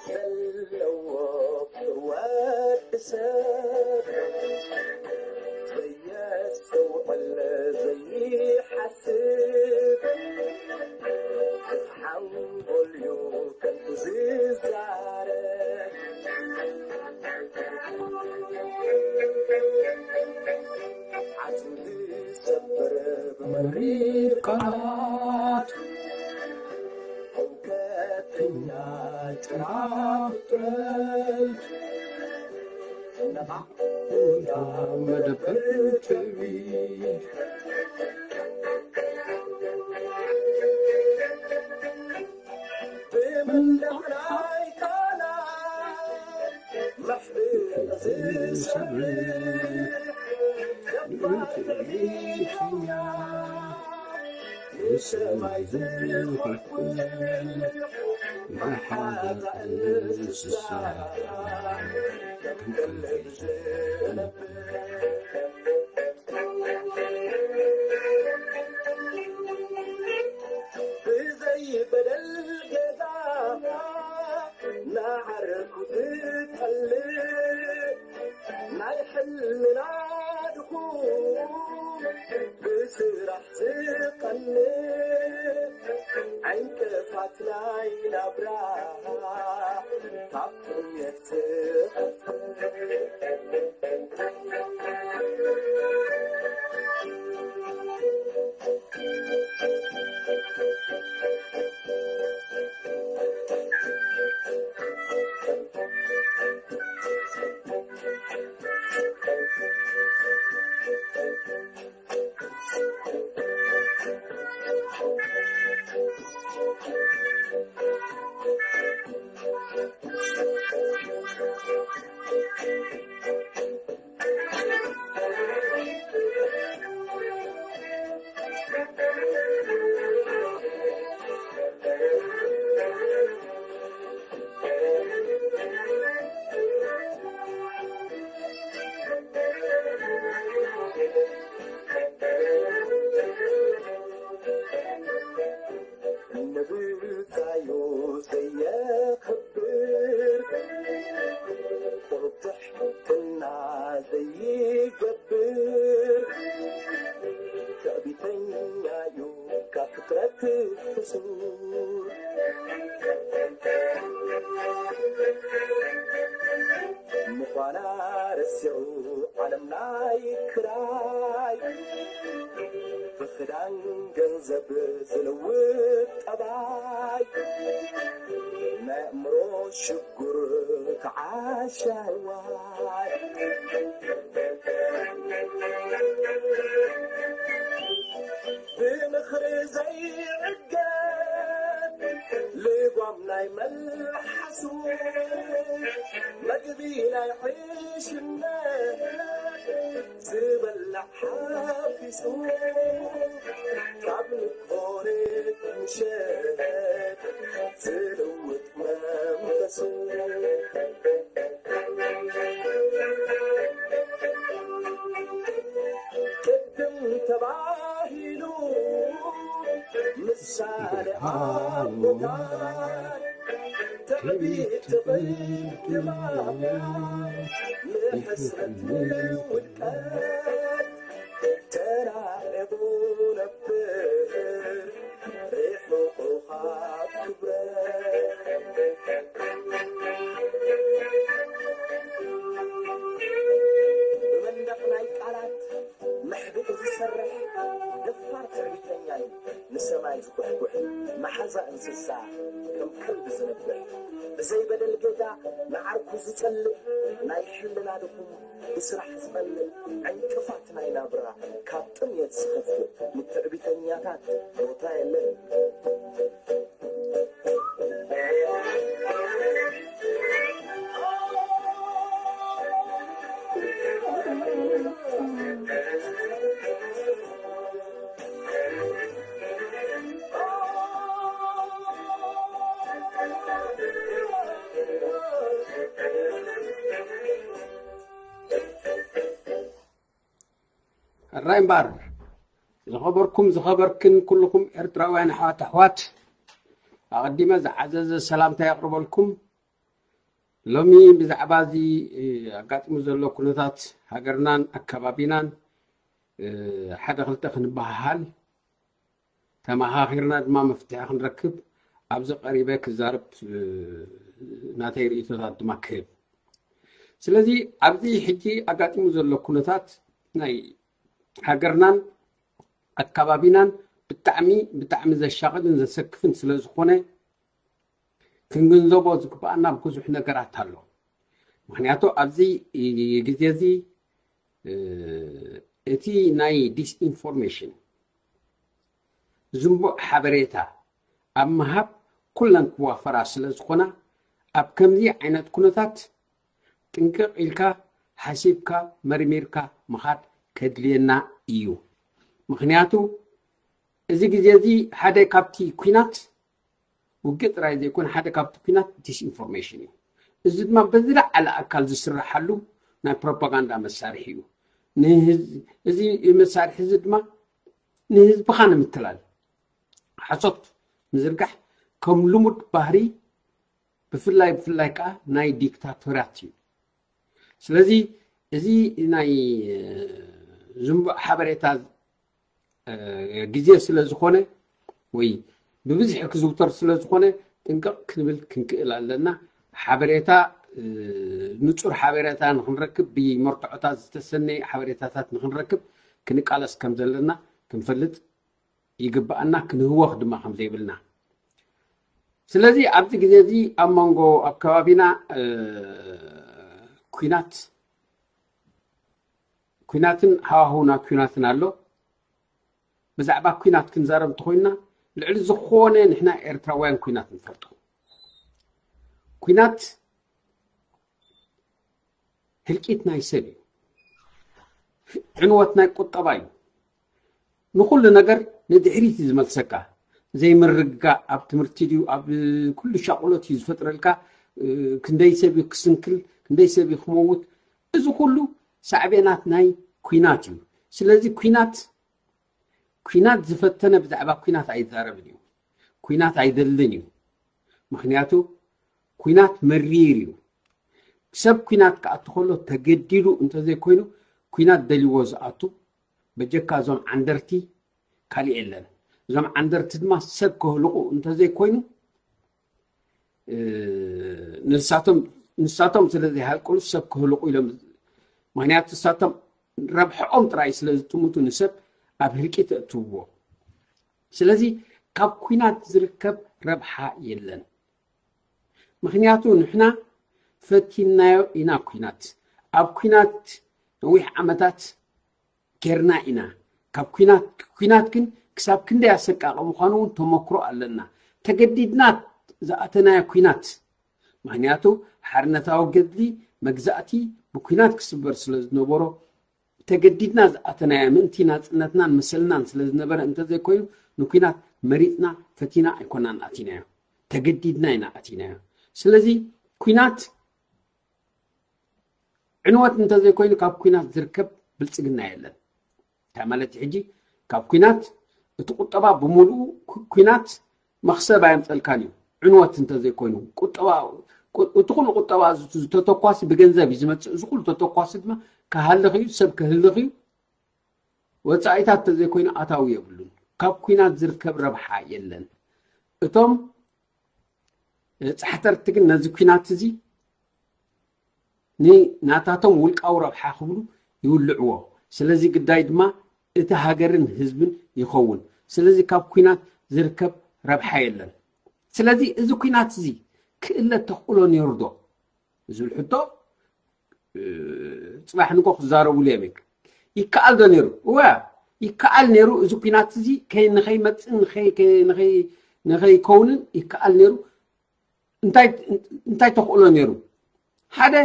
ዘለዎ ፍቅሪ ወዲ ሰብ ዘየስተውዕል ዘይሓስብ ሓንጎልዩ ከንቱ ዝዛረብ ዓጽሚ ዝሰብር ብመሪር ቃላት እውከተኛ ጭራ ፍጥረት ነቓዕ እንዳ መደበር ትዕቢት ብመንደቕ ናይ ቃላት መሕብእ ዝሰርሕ ደፋር ትዕቢተኛ ንሰማይ ዝኹሕኩሕ ናይ ሓዛእ እንስሳ ከም ቀልቢ ዝነብር ብዘይ በደል ገዛ ንዓርኩ ዝጠልእ ናይ ሕልና ድኹም ብስራሕ ዝቐንእ ዕንቅፋት ናይ ናብራ ካብ ጥሜት ዝኸፍእ ንብጻዩ ዘየኽብር ቁሩብ ትሕትና ዘይገብር ትዕቢተኛ እዩ ካብ ፍጥረት ሕሱር ምዃና ረሲዑ ዓለም ናይ ክራይ ብኽዳን ገንዘብ ዝልውጥ ጠባይ ናይ ኣእምሮ ሽጉር ከዓሻዋይ ብምኽሪ ዘይዕገብ ልጓም ናይ መልሓሱ መግቢ ናይ ዕሽነት ዝበላዕ ሓፊሱ ካብ ንግሆ ሌት ምሸት ዝልውጥ መንፈሱ ቅድም ተባሂሉ ምሳሌ ኣቦታት ትዕቢት ትቕድማ ንሕስረት ውድቀት ተራዒቑ ነብር ርሑቑ ካብ ክብረት ብመንደቕ ናይ ቃላት መሕብኢ ዝሰርሕ ደፋር ትዕቢተኛ እዩ። ንሰማይ ዝኩሕኩሕ መሓዛ እንስሳ ከም ከልቢ ዝነብሕ ብዘይ በደል ጌጋ ንዓርኩ ዝጸልእ ናይ ሕልና ድኹም ብስራሕ ዝቐንእ ዕንቅፋት ናይ ናብራ ካብ ጥምየት ዝኸፍእ ንትዕቢተኛታት ቦታ የለን። ሕራይ እምበኣር፣ ዝኸበርኩም ዝኸበርክን ኩልኹም ኤርትራውያን ኣሕዋት ኣሕዋት፣ ኣቐዲመ ዝዓዘዘ ሰላምታ የቕርበልኩም። ሎሚ ብዛዕባ እዚ ኣጋጢሙ ዘሎ ኩነታት ሃገርናን ኣከባቢናን ሓደ ክልተ ክንበሃሃል፣ ተመኻኺርና ድማ መፍትሒ ክንረክብ ኣብዚ ቀሪበ ክዛረብ፣ ናተይ ርእይቶታት ድማ ክህብ። ስለዚ ኣብዚ ሕጂ ኣጋጢሙ ዘሎ ኩነታት ናይ ሃገርናን ኣከባቢናን ብጣዕሚ ብጣዕሚ ዘሻቕልን ዘሰክፍን ስለ ዝኾነ፣ ክንግንዘቦ ዝግባኣና ብዙሕ ነገራት ኣሎ። ምክንያቱ ኣብዚ ግዜ እዚ እቲ ናይ ዲስኢንፎርሜሽን ዝንቡዕ ሓበሬታ ኣብ ምሃብ ኩለን ክዋፈራ ስለ ዝኾና፣ ኣብ ከምዚ ዓይነት ኩነታት ጥንቅቕ ኢልካ ሓሲብካ መርሚርካ ምኻድ ከድልየና እዩ። ምክንያቱ እዚ ግዜ እዚ ሓደ ካብቲ ኲናት፣ ውግእ ጥራይ ዘይኮነ ሓደ ካብቲ ኲናት ዲስኢንፎርሜሽን እዩ። እዚ ድማ ብዝለዓለ ኣካል ዝስረሓሉ ናይ ፕሮፓጋንዳ መሳርሒ እዩ። እዚ መሳርሒ እዚ ድማ ንህዝብኻ ንምትላል፣ ሓሶት ምዝርጋሕ ከም ልሙድ ባህሪ፣ ብፍላይ ብፍላይ ከዓ ናይ ዲክታቶራት እዩ። ስለዚ እዚ ናይ ዝንቡዕ ሓበሬታ ግዜ ስለ ዝኾነ ወይ ብብዝሒ ክዝውተር ስለ ዝኾነ፣ ጥንቅቕ ክንብል ክንክእል ኣለና። ሓበሬታ ንጹር ሓበሬታ ንክንረክብ፣ ብመርትዖታት ዝተሰነየ ሓበሬታታት ንክንረክብ ክንቃለስ ከም ዘለና ክንፈልጥ ይግባኣና፣ ክንህወኽ ድማ ከም ዘይብልና። ስለዚ ኣብዚ ግዜ እዚ ኣብ መንጎ ኣብ ከባቢና ኲናት ኲናትን ሃዋህውና ኲናትን ኣሎ። ብዛዕባ ኲናት ክንዛረብ እንተኾይንና፣ ልዕሊ ዝኾነ ንሕና ኤርትራውያን ኲናት ንፈልጦ። ኲናት ህልቂት ናይ ሰብ እዩ። ዕንወት ናይ ቁጠባ እዩ። ንኹሉ ነገር ንድሕሪት እዩ ዝመልሰካ። ዘይምርግጋእ ኣብ ትምህርቲ ድዩ፣ ኣብ ኩሉ ሻቕሎት እዩ ዝፈጥረልካ። ክንደይ ሰብ እዩ ክስንክል፣ ክንደይ ሰብ እዩ ክመውት። እዚ ኩሉ ሳዕቤናት ናይ ኲናት እዩ። ስለዚ ኲናት፣ ኲናት ዝፈተነ ብዛዕባ ኲናት ኣይዛረብን እዩ። ኲናት ኣይደልን እዩ። ምክንያቱ ኲናት መሪር እዩ። ሰብ ኲናት ክኣቱ ከሎ ተገዲዱ እንተዘይኮይኑ፣ ኲናት ደልይዎ ዝኣቱ በጀካ እዞም ዓንደርቲ ካልእ የለን። እዞም ዓንደርቲ ድማ ሰብ ከህልቑ እንተዘይኮይኑ፣ ንሳቶም ንሳቶም ስለ ዘይሃልቁሉ ሰብ ከህልቑ ኢሎም፣ ምክንያቱ ንሳቶም ረብሕኦም ጥራይ ስለ ዝጥምቱ ንሰብ ኣብ ህልቂት የእትውዎ። ስለዚ ካብ ኲናት ዝርከብ ረብሓ የለን። ምክንያቱ ንሕና ፈቲናዮ ኢና ኲናት። ኣብ ኲናት ነዊሕ ዓመታት ጌርና ኢና። ካብ ኲናት ኲናት ግን ክሳብ ክንደይ ኣሰቃቂ ምዃኑ እውን ተመክሮ ኣለና። ተገዲድና ዝኣተናዮ ኲናት፣ ምክንያቱ ሓርነታዊ ገድሊ መግዛእቲ ብኲናት ክስበር ስለ ዝነበሮ፣ ተገዲድና ዝኣተናዮ ምእንቲ ናጽነትናን መሰልናን ስለ ዝነበረ እንተዘይኮይኑ፣ ንኲናት መሪጽና ፈቲና ኣይኮናን ኣቲናዮ። ተገዲድና ኢና ኣቲናዮ። ስለዚ ኲናት ዕንወት እንተዘይኮይኑ ካብ ኲናት ዝርከብ ብልጽግና የለን። እንታይ ማለት እዩ? ሕጂ ካብ ኲናት እቲ ቁጠባ ብምሉኡ ኩ-፣ ኲናት መኽሰብ ኣየምፀልካን እዩ። ዕንወት እንተዘይኮይኑ ቁጠባ፣ ቁ-፣ እቲ ኩሉ ቁጠባ ዝ-፣ ዝተተኳሲ ብገንዘብ እዩ ዝመፅእ። እዚ ኩሉ ተተኳሲ ድማ ክሃልኽ እዩ፣ ሰብ ክህልኽ እዩ። ወፃኢታት እንተዘይኮይኑ ኣታዊ የብሉን። ካብ ኲናት ዝርከብ ረብሓ የለን። እቶም ጻሕተርቲ ግን ነዚ ኲናት እዚ ንናታቶም ውልቃዊ ረብሓ ክብሉ ይውልዕዎ። ስለዚ ግዳይ ድማ እቲ ሃገርን ህዝብን ይኸውን። ስለዚ ካብ ኲናት ዝርከብ ረብሓ የለን። ስለዚ እዚ ኲናት እዚ ክእለ ተኽእሎ ነይሩ ዶ ዝብል ሕቶ፣ እ፣ ጽባሕ ንግሆ ክዛረቡሉ እዮም። ይከኣል ዶ ነይሩ? እወ፣ ይከኣል ነይሩ። እዚ ኲናት እዚ ከይ-፣ ንኸይመጽእን ንኸይ-፣ ከ-፣ ንኸይ-፣ ንኸይከውንን ይከኣል ነይሩ። እንታይ፣ እንታይ ተኽእሎ ነይሩ? ሓደ፣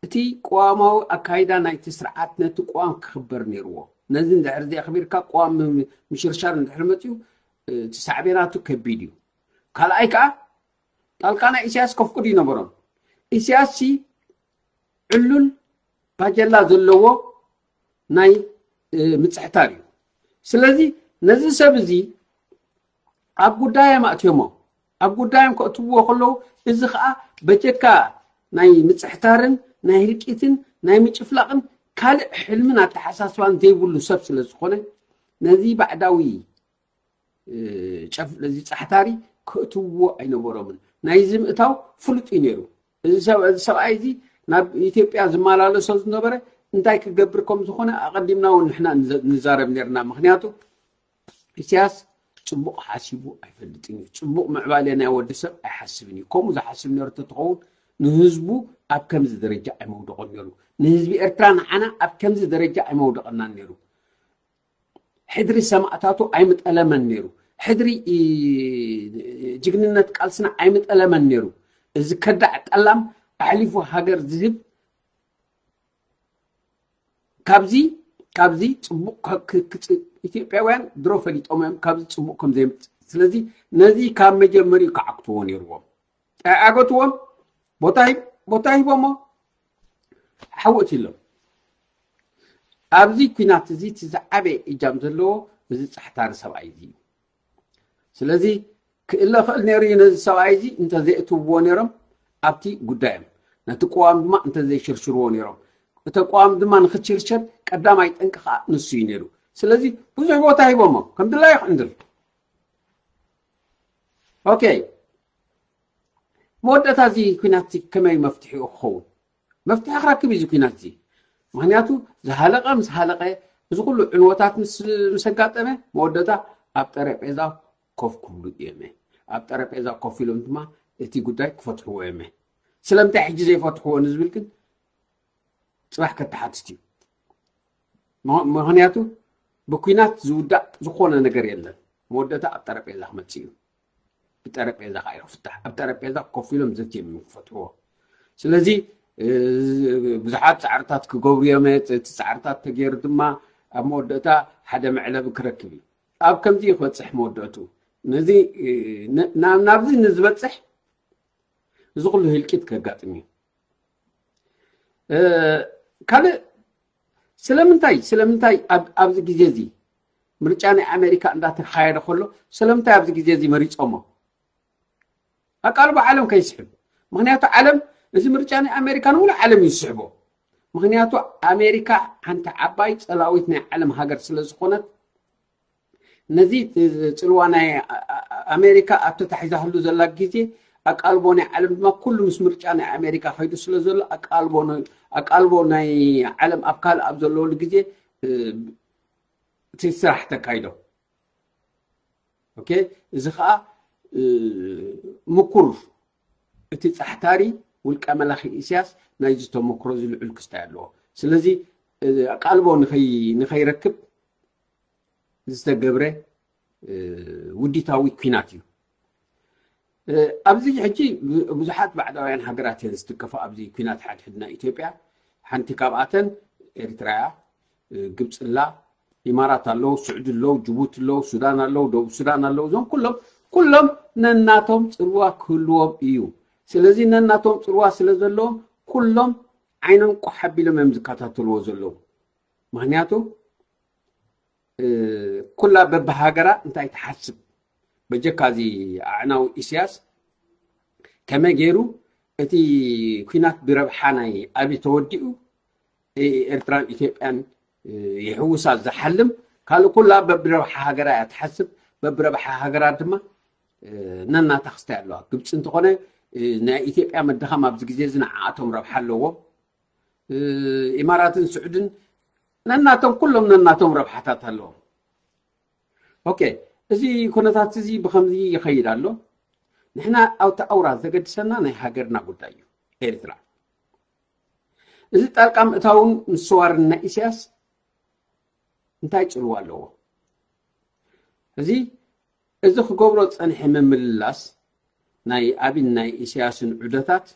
እቲ ቅዋማዊ ኣካይዳ ናይቲ ስርዓት ነቲ ቅዋም ክኽበር ነይርዎ። ነዚ እንድሕር ዘየኽቢርካ ቅዋም ም-፣ ምሽርሻር እንድሕር መጺኡ፣ እ፣ እቲ ሳዕቤናቱ ከቢድ እዩ። ካልኣይ ከኣ፣ ጣልቃ ናይ ኢሳያስ ከፍቅዱ ይነበሮም። ኢሳያስ ሲ ዕሉል ባጀላ ዘለዎ ናይ ምፅሕታር እዩ። ስለዚ ነዚ ሰብ እዚ ኣብ ጉዳዮም ኣእትዮሞ ኣብ ጉዳዮም ከእትውዎ ከለዉ፣ እዚ ከዓ በጀካ ናይ ምፅሕታርን ናይ ህልቂትን ናይ ምጭፍላቕን ካልእ ሕልምን ኣተሓሳስባን ዘይብሉ ሰብ ስለ ዝኾነ፣ ነዚ ባዕዳዊ እዚ ፃሕታሪ ከእትውዎ ኣይነበሮምን። ናይዚ ምእታው ፍሉጥ እዩ ነይሩ። እዚ ሰብኣይ እዚ ናብ ኢትዮጵያ ዝመላለሶ ዝነበረ እንታይ ክገብር ከም ዝኾነ ኣቐዲምና እውን ንሕና ንዛረብ ነርና። ምክንያቱ ኢሳያስ ፅቡቕ ሓሲቡ ኣይፈልጥን እዩ። ፅቡቕ ምዕባለ ናይ ወዲ ሰብ ኣይሓስብን እዩ። ከምኡ ዝሓስብ ነሩ ተትኸውን ንህዝቡ ኣብ ከምዚ ደረጃ ኣይመውደቐን ነሩ። ንህዝቢ ኤርትራ ንዓና ኣብ ከምዚ ደረጃ ኣይመውደቐናን ነሩ። ሕድሪ ሰማእታቱ ኣይምጠለመን ነሩ። ሕድሪ ጅግንነት ቃልስና ኣይምጠለመን ነሩ። እዚ ከዳዕ ጠላም ኣሕሊፉ ሃገር ዝህብ ካብዚ ካብዚ ፅቡቅ ኢትዮጵያውያን ድሮ ፈሊጦም እዮም ካብዚ ፅቡቅ ከም ዘይምፅ። ስለዚ ነዚ ካብ መጀመሪኡ ክዓግትዎ ነርዎም። ኣይዓገትዎም። ቦታ ሂቦሞ ሓወት ኢሎም። ኣብዚ ኩናት እዚ እቲ ዝዓበየ እጃም ዘለዎ እዚ ፃሕታሪ ሰብኣይ እዚ እዩ። ስለዚ ክእለ ክእል ነይሩ እዩ ነዚ ሰብኣይ እዚ እንተዘይእትውዎ ነይሮም ኣብቲ ጉዳዮም፣ ነቲ ቅዋም ድማ እንተዘይሽርሽርዎ ነይሮም። እቲ ቅዋም ድማ ንክትሽርሸር ቀዳማይ ጠንቂ ከዓ ንሱ እዩ ነይሩ። ስለዚ ብዙሕ ቦታ ሂቦሞ ከም ድላዩ ክዕንድር። ኦኬ፣ መወዳእታ እዚ ኩናት እዚ ከመይ መፍትሒኡ ክኸውን? መፍትሒ ክረክብ እዩ እዚ ኩናት እዚ። ምክንያቱ ዝሃለቀ ምስ ሃለቀ፣ እዚ ኩሉ ዕንወታት ምስ ኣጋጠመ መወዳእታ ኣብ ጠረጴዛ ኮፍ ክብሉ እዮም። ኣብ ጠረጴዛ ኮፍ ኢሎም ድማ እቲ ጉዳይ ክፈትሕዎ እዮም። ስለምንታይ ሕጂ ዘይፈትሕዎ ንዝብል ግን ፅባሕ ከተሓትት እዩ። ምክንያቱ ብኩናት ዝውዳእ ዝኾነ ነገር የለን። መወዳእታ ኣብ ጠረጴዛ ክመፅእ እዩ። ብጠረጴዛ ከዓ ይፍታሕ። ኣብ ጠረጴዛ ኮፍ ኢሎም ዘትዮም እዮም ክፈትሕዎ። ስለዚ ብዙሓት ፃዕርታት ክገብሩ እዮም። እቲ ፃዕርታት ተገይሩ ድማ ኣብ መወዳእታ ሓደ መዕለቢ ክረክብ እዩ። ኣብ ከምዚ እዩ ክበፅሕ መወዳእቱ። ነዚ ናብዚ ንዝበፅሕ እዚ ኩሉ ህልቂት ከጋጥም እዩ። ካልእ ስለምንታይ ስለምንታይ ኣብዚ ግዜ እዚ ምርጫ ናይ ኣሜሪካ እንዳተካየደ ከሎ ስለምንታይ ኣብዚ ግዜ እዚ መሪፆሞ? ኣቃልቦ ዓለም ከይስሕብ። ምክንያቱ ዓለም እዚ ምርጫ ናይ ኣሜሪካ ንሙሉ ዓለም እዩ ዝስሕቦ። ምክንያቱ ኣሜሪካ ሓንቲ ዓባይ ፀላዊት ናይ ዓለም ሃገር ስለ ዝኾነት ነዚ ፅልዋ ናይ ኣሜሪካ ኣብ ተታሒዛህሉ ዘላ ግዜ ኣቃልቦ ናይ ዓለም ድማ ኩሉ ምስ ምርጫ ናይ ኣሜሪካ ከይዱ ስለ ዘሎ ኣቃልቦ ናይ ዓለም ኣብ ካልእ ኣብ ዘለወሉ ግዜ እቲ ስራሕ ተካይዶ። ኦኬ፣ እዚ ከዓ ምኩር እቲ ፃሕታሪ ውልቀ መላኺ ኢሳያስ ናይዚ ተመክሮ እዚ ልዑል ክስታይ ኣለዎ። ስለዚ ኣቃልቦ ንኸይረክብ ዝተገብረ ውዲታዊ ኩናት እዩ። ኣብዚ ሕጂ ብዙሓት ባዕዳውያን ሃገራት እየን ዝትከፋ ኣብዚ ኩናት ሓድሕድ ናይ ኢትዮጵያ። ሓንቲ ካብኣተን ኤርትራ እያ፣ ግብፂ ኣላ፣ ኢማራት ኣለዉ፣ ስዑዲ ኣለዉ፣ ጅቡቲ ኣለዉ፣ ሱዳን ኣለዉ፣ ደቡብ ሱዳን ኣለዉ። እዞም ኩሎም ኩሎም ነናቶም ፅልዋ ክህልዎም እዩ። ስለዚ ነናቶም ፅልዋ ስለ ዘለዎም ኩሎም ዓይኖም ቆሕ ኣቢሎም እዮም ዝከታተልዎ ዘለዉ። ምክንያቱ ኩላ በብሃገራ እንታይ ትሓስብ በጀካ እዚ ኣዕናዊ ኢሳያስ ከመይ ገይሩ እቲ ኩናት ብረብሓ ናይ ኣብይ ተወዲኡ ኤርትራን ኢትዮጵያን ይሕውሳ ዝሓልም ካልእ ኩላ በብረብሓ ሃገራ እያ ትሓስብ። በብረብሓ ሃገራ ድማ ነናታ ክስታይ ኣለዋ። ግብፂ እንተኾነ ናይ ኢትዮጵያ መድኻም ኣብዚ ግዜ እዚ ንዓኣቶም ረብሓ ኣለዎም። ኢማራትን ስዑድን ነናቶም ኩሎም ነናቶም ረብሓታት ኣለዎም። ኦኬ፣ እዚ ኩነታት እዚ ብከምዚ ይኸይድ ኣሎ። ንሕና ኣብቲ ኣውራ ዘገድሰና ናይ ሃገርና ጉዳይ እዩ። ኤርትራ እዚ ጣልቃ ምእታውን ምስዋርን ናይ ኢሳያስ እንታይ ፅልዋ ኣለዎ? እዚ እዚ ክገብሮ ዝፀንሐ ምምልላስ ናይ ኣብን ናይ ኢሳያስን ዑደታት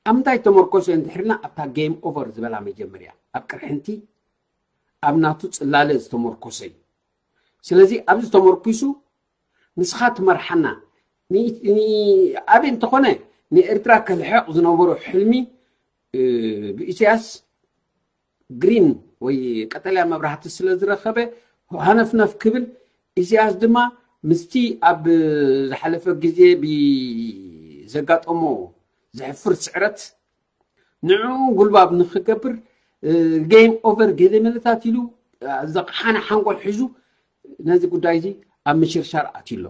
ኣብ ምንታይ ተመርኮሰ እንድሕርና ኣብታ ጌም ኦቨር ዝበላ መጀመርያ ኣብ ቅርሕንቲ ኣብ ናቱ ፅላለ ዝተመርኮሰ እዩ። ስለዚ ኣብዚ ተመርኩሱ ንስኻ ትመርሓና። ኣበይ እንተኾነ ንኤርትራ ከልሕቕ ዝነበሮ ሕልሚ ብኢሳያስ ግሪን ወይ ቀጠልያ መብራህቲ ስለ ዝረኸበ ሃነፍነፍ ክብል፣ ኢሳያስ ድማ ምስቲ ኣብ ዝሓለፈ ግዜ ብዘጋጠሞ ዘሕፍር ስዕረት ንዕኡ ጉልባብ ንክገብር፣ ጌም ኦቨር ገለ መለታት ኢሉ ዘቕሓነ ሓንጎል ሒዙ ነዚ ጉዳይ እዚ ኣብ ምሽርሻር ኣትዩ ኣሎ።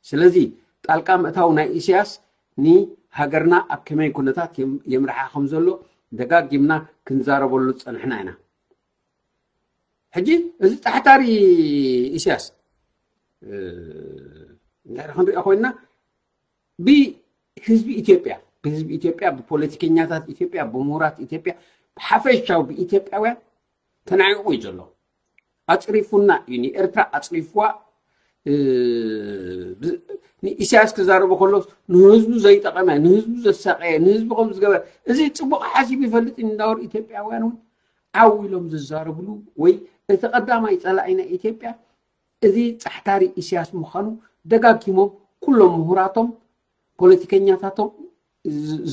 ስለዚ ጣልቃ ምእታው ናይ ኢሳያስ ንሃገርና ኣብ ከመይ ኩነታት የምርሓ ከም ዘሎ ደጋጊምና ክንዛረበሉ ዝጸንሕና ኢና። ሕጂ እዚ ጻሕታሪ ኢሳያስ እንድሕር ክንሪኦ ኮይንና፣ ብህዝቢ ኢትዮጵያ ብህዝቢ ኢትዮጵያ ብፖለቲከኛታት ኢትዮጵያ ብምሁራት ኢትዮጵያ ብሓፈሻዊ ብኢትዮጵያውያን ተናዒቑ እዩ ዘሎ። ኣፅሪፉና እዩ፣ ንኤርትራ ኣፅሪፍዋ። ንኢሳያስ ክዛረቡ ከሎ ንህዝቡ ዘይጠቐመ፣ ንህዝቡ ዘሳቀየ፣ ንህዝቡ ከም ዝገበረ፣ እዚ ፅቡቕ ሓሲብ ይፈልጥ እንዳወር ኢትዮጵያውያን እውን ዓው ኢሎም ዝዛረብሉ ወይ እቲ ቀዳማይ ፀላኢ ናይ ኢትዮጵያ እዚ ጻሕታሪ ኢሳያስ ምዃኑ ደጋጊሞም ኩሎም ምሁራቶም ፖለቲከኛታቶም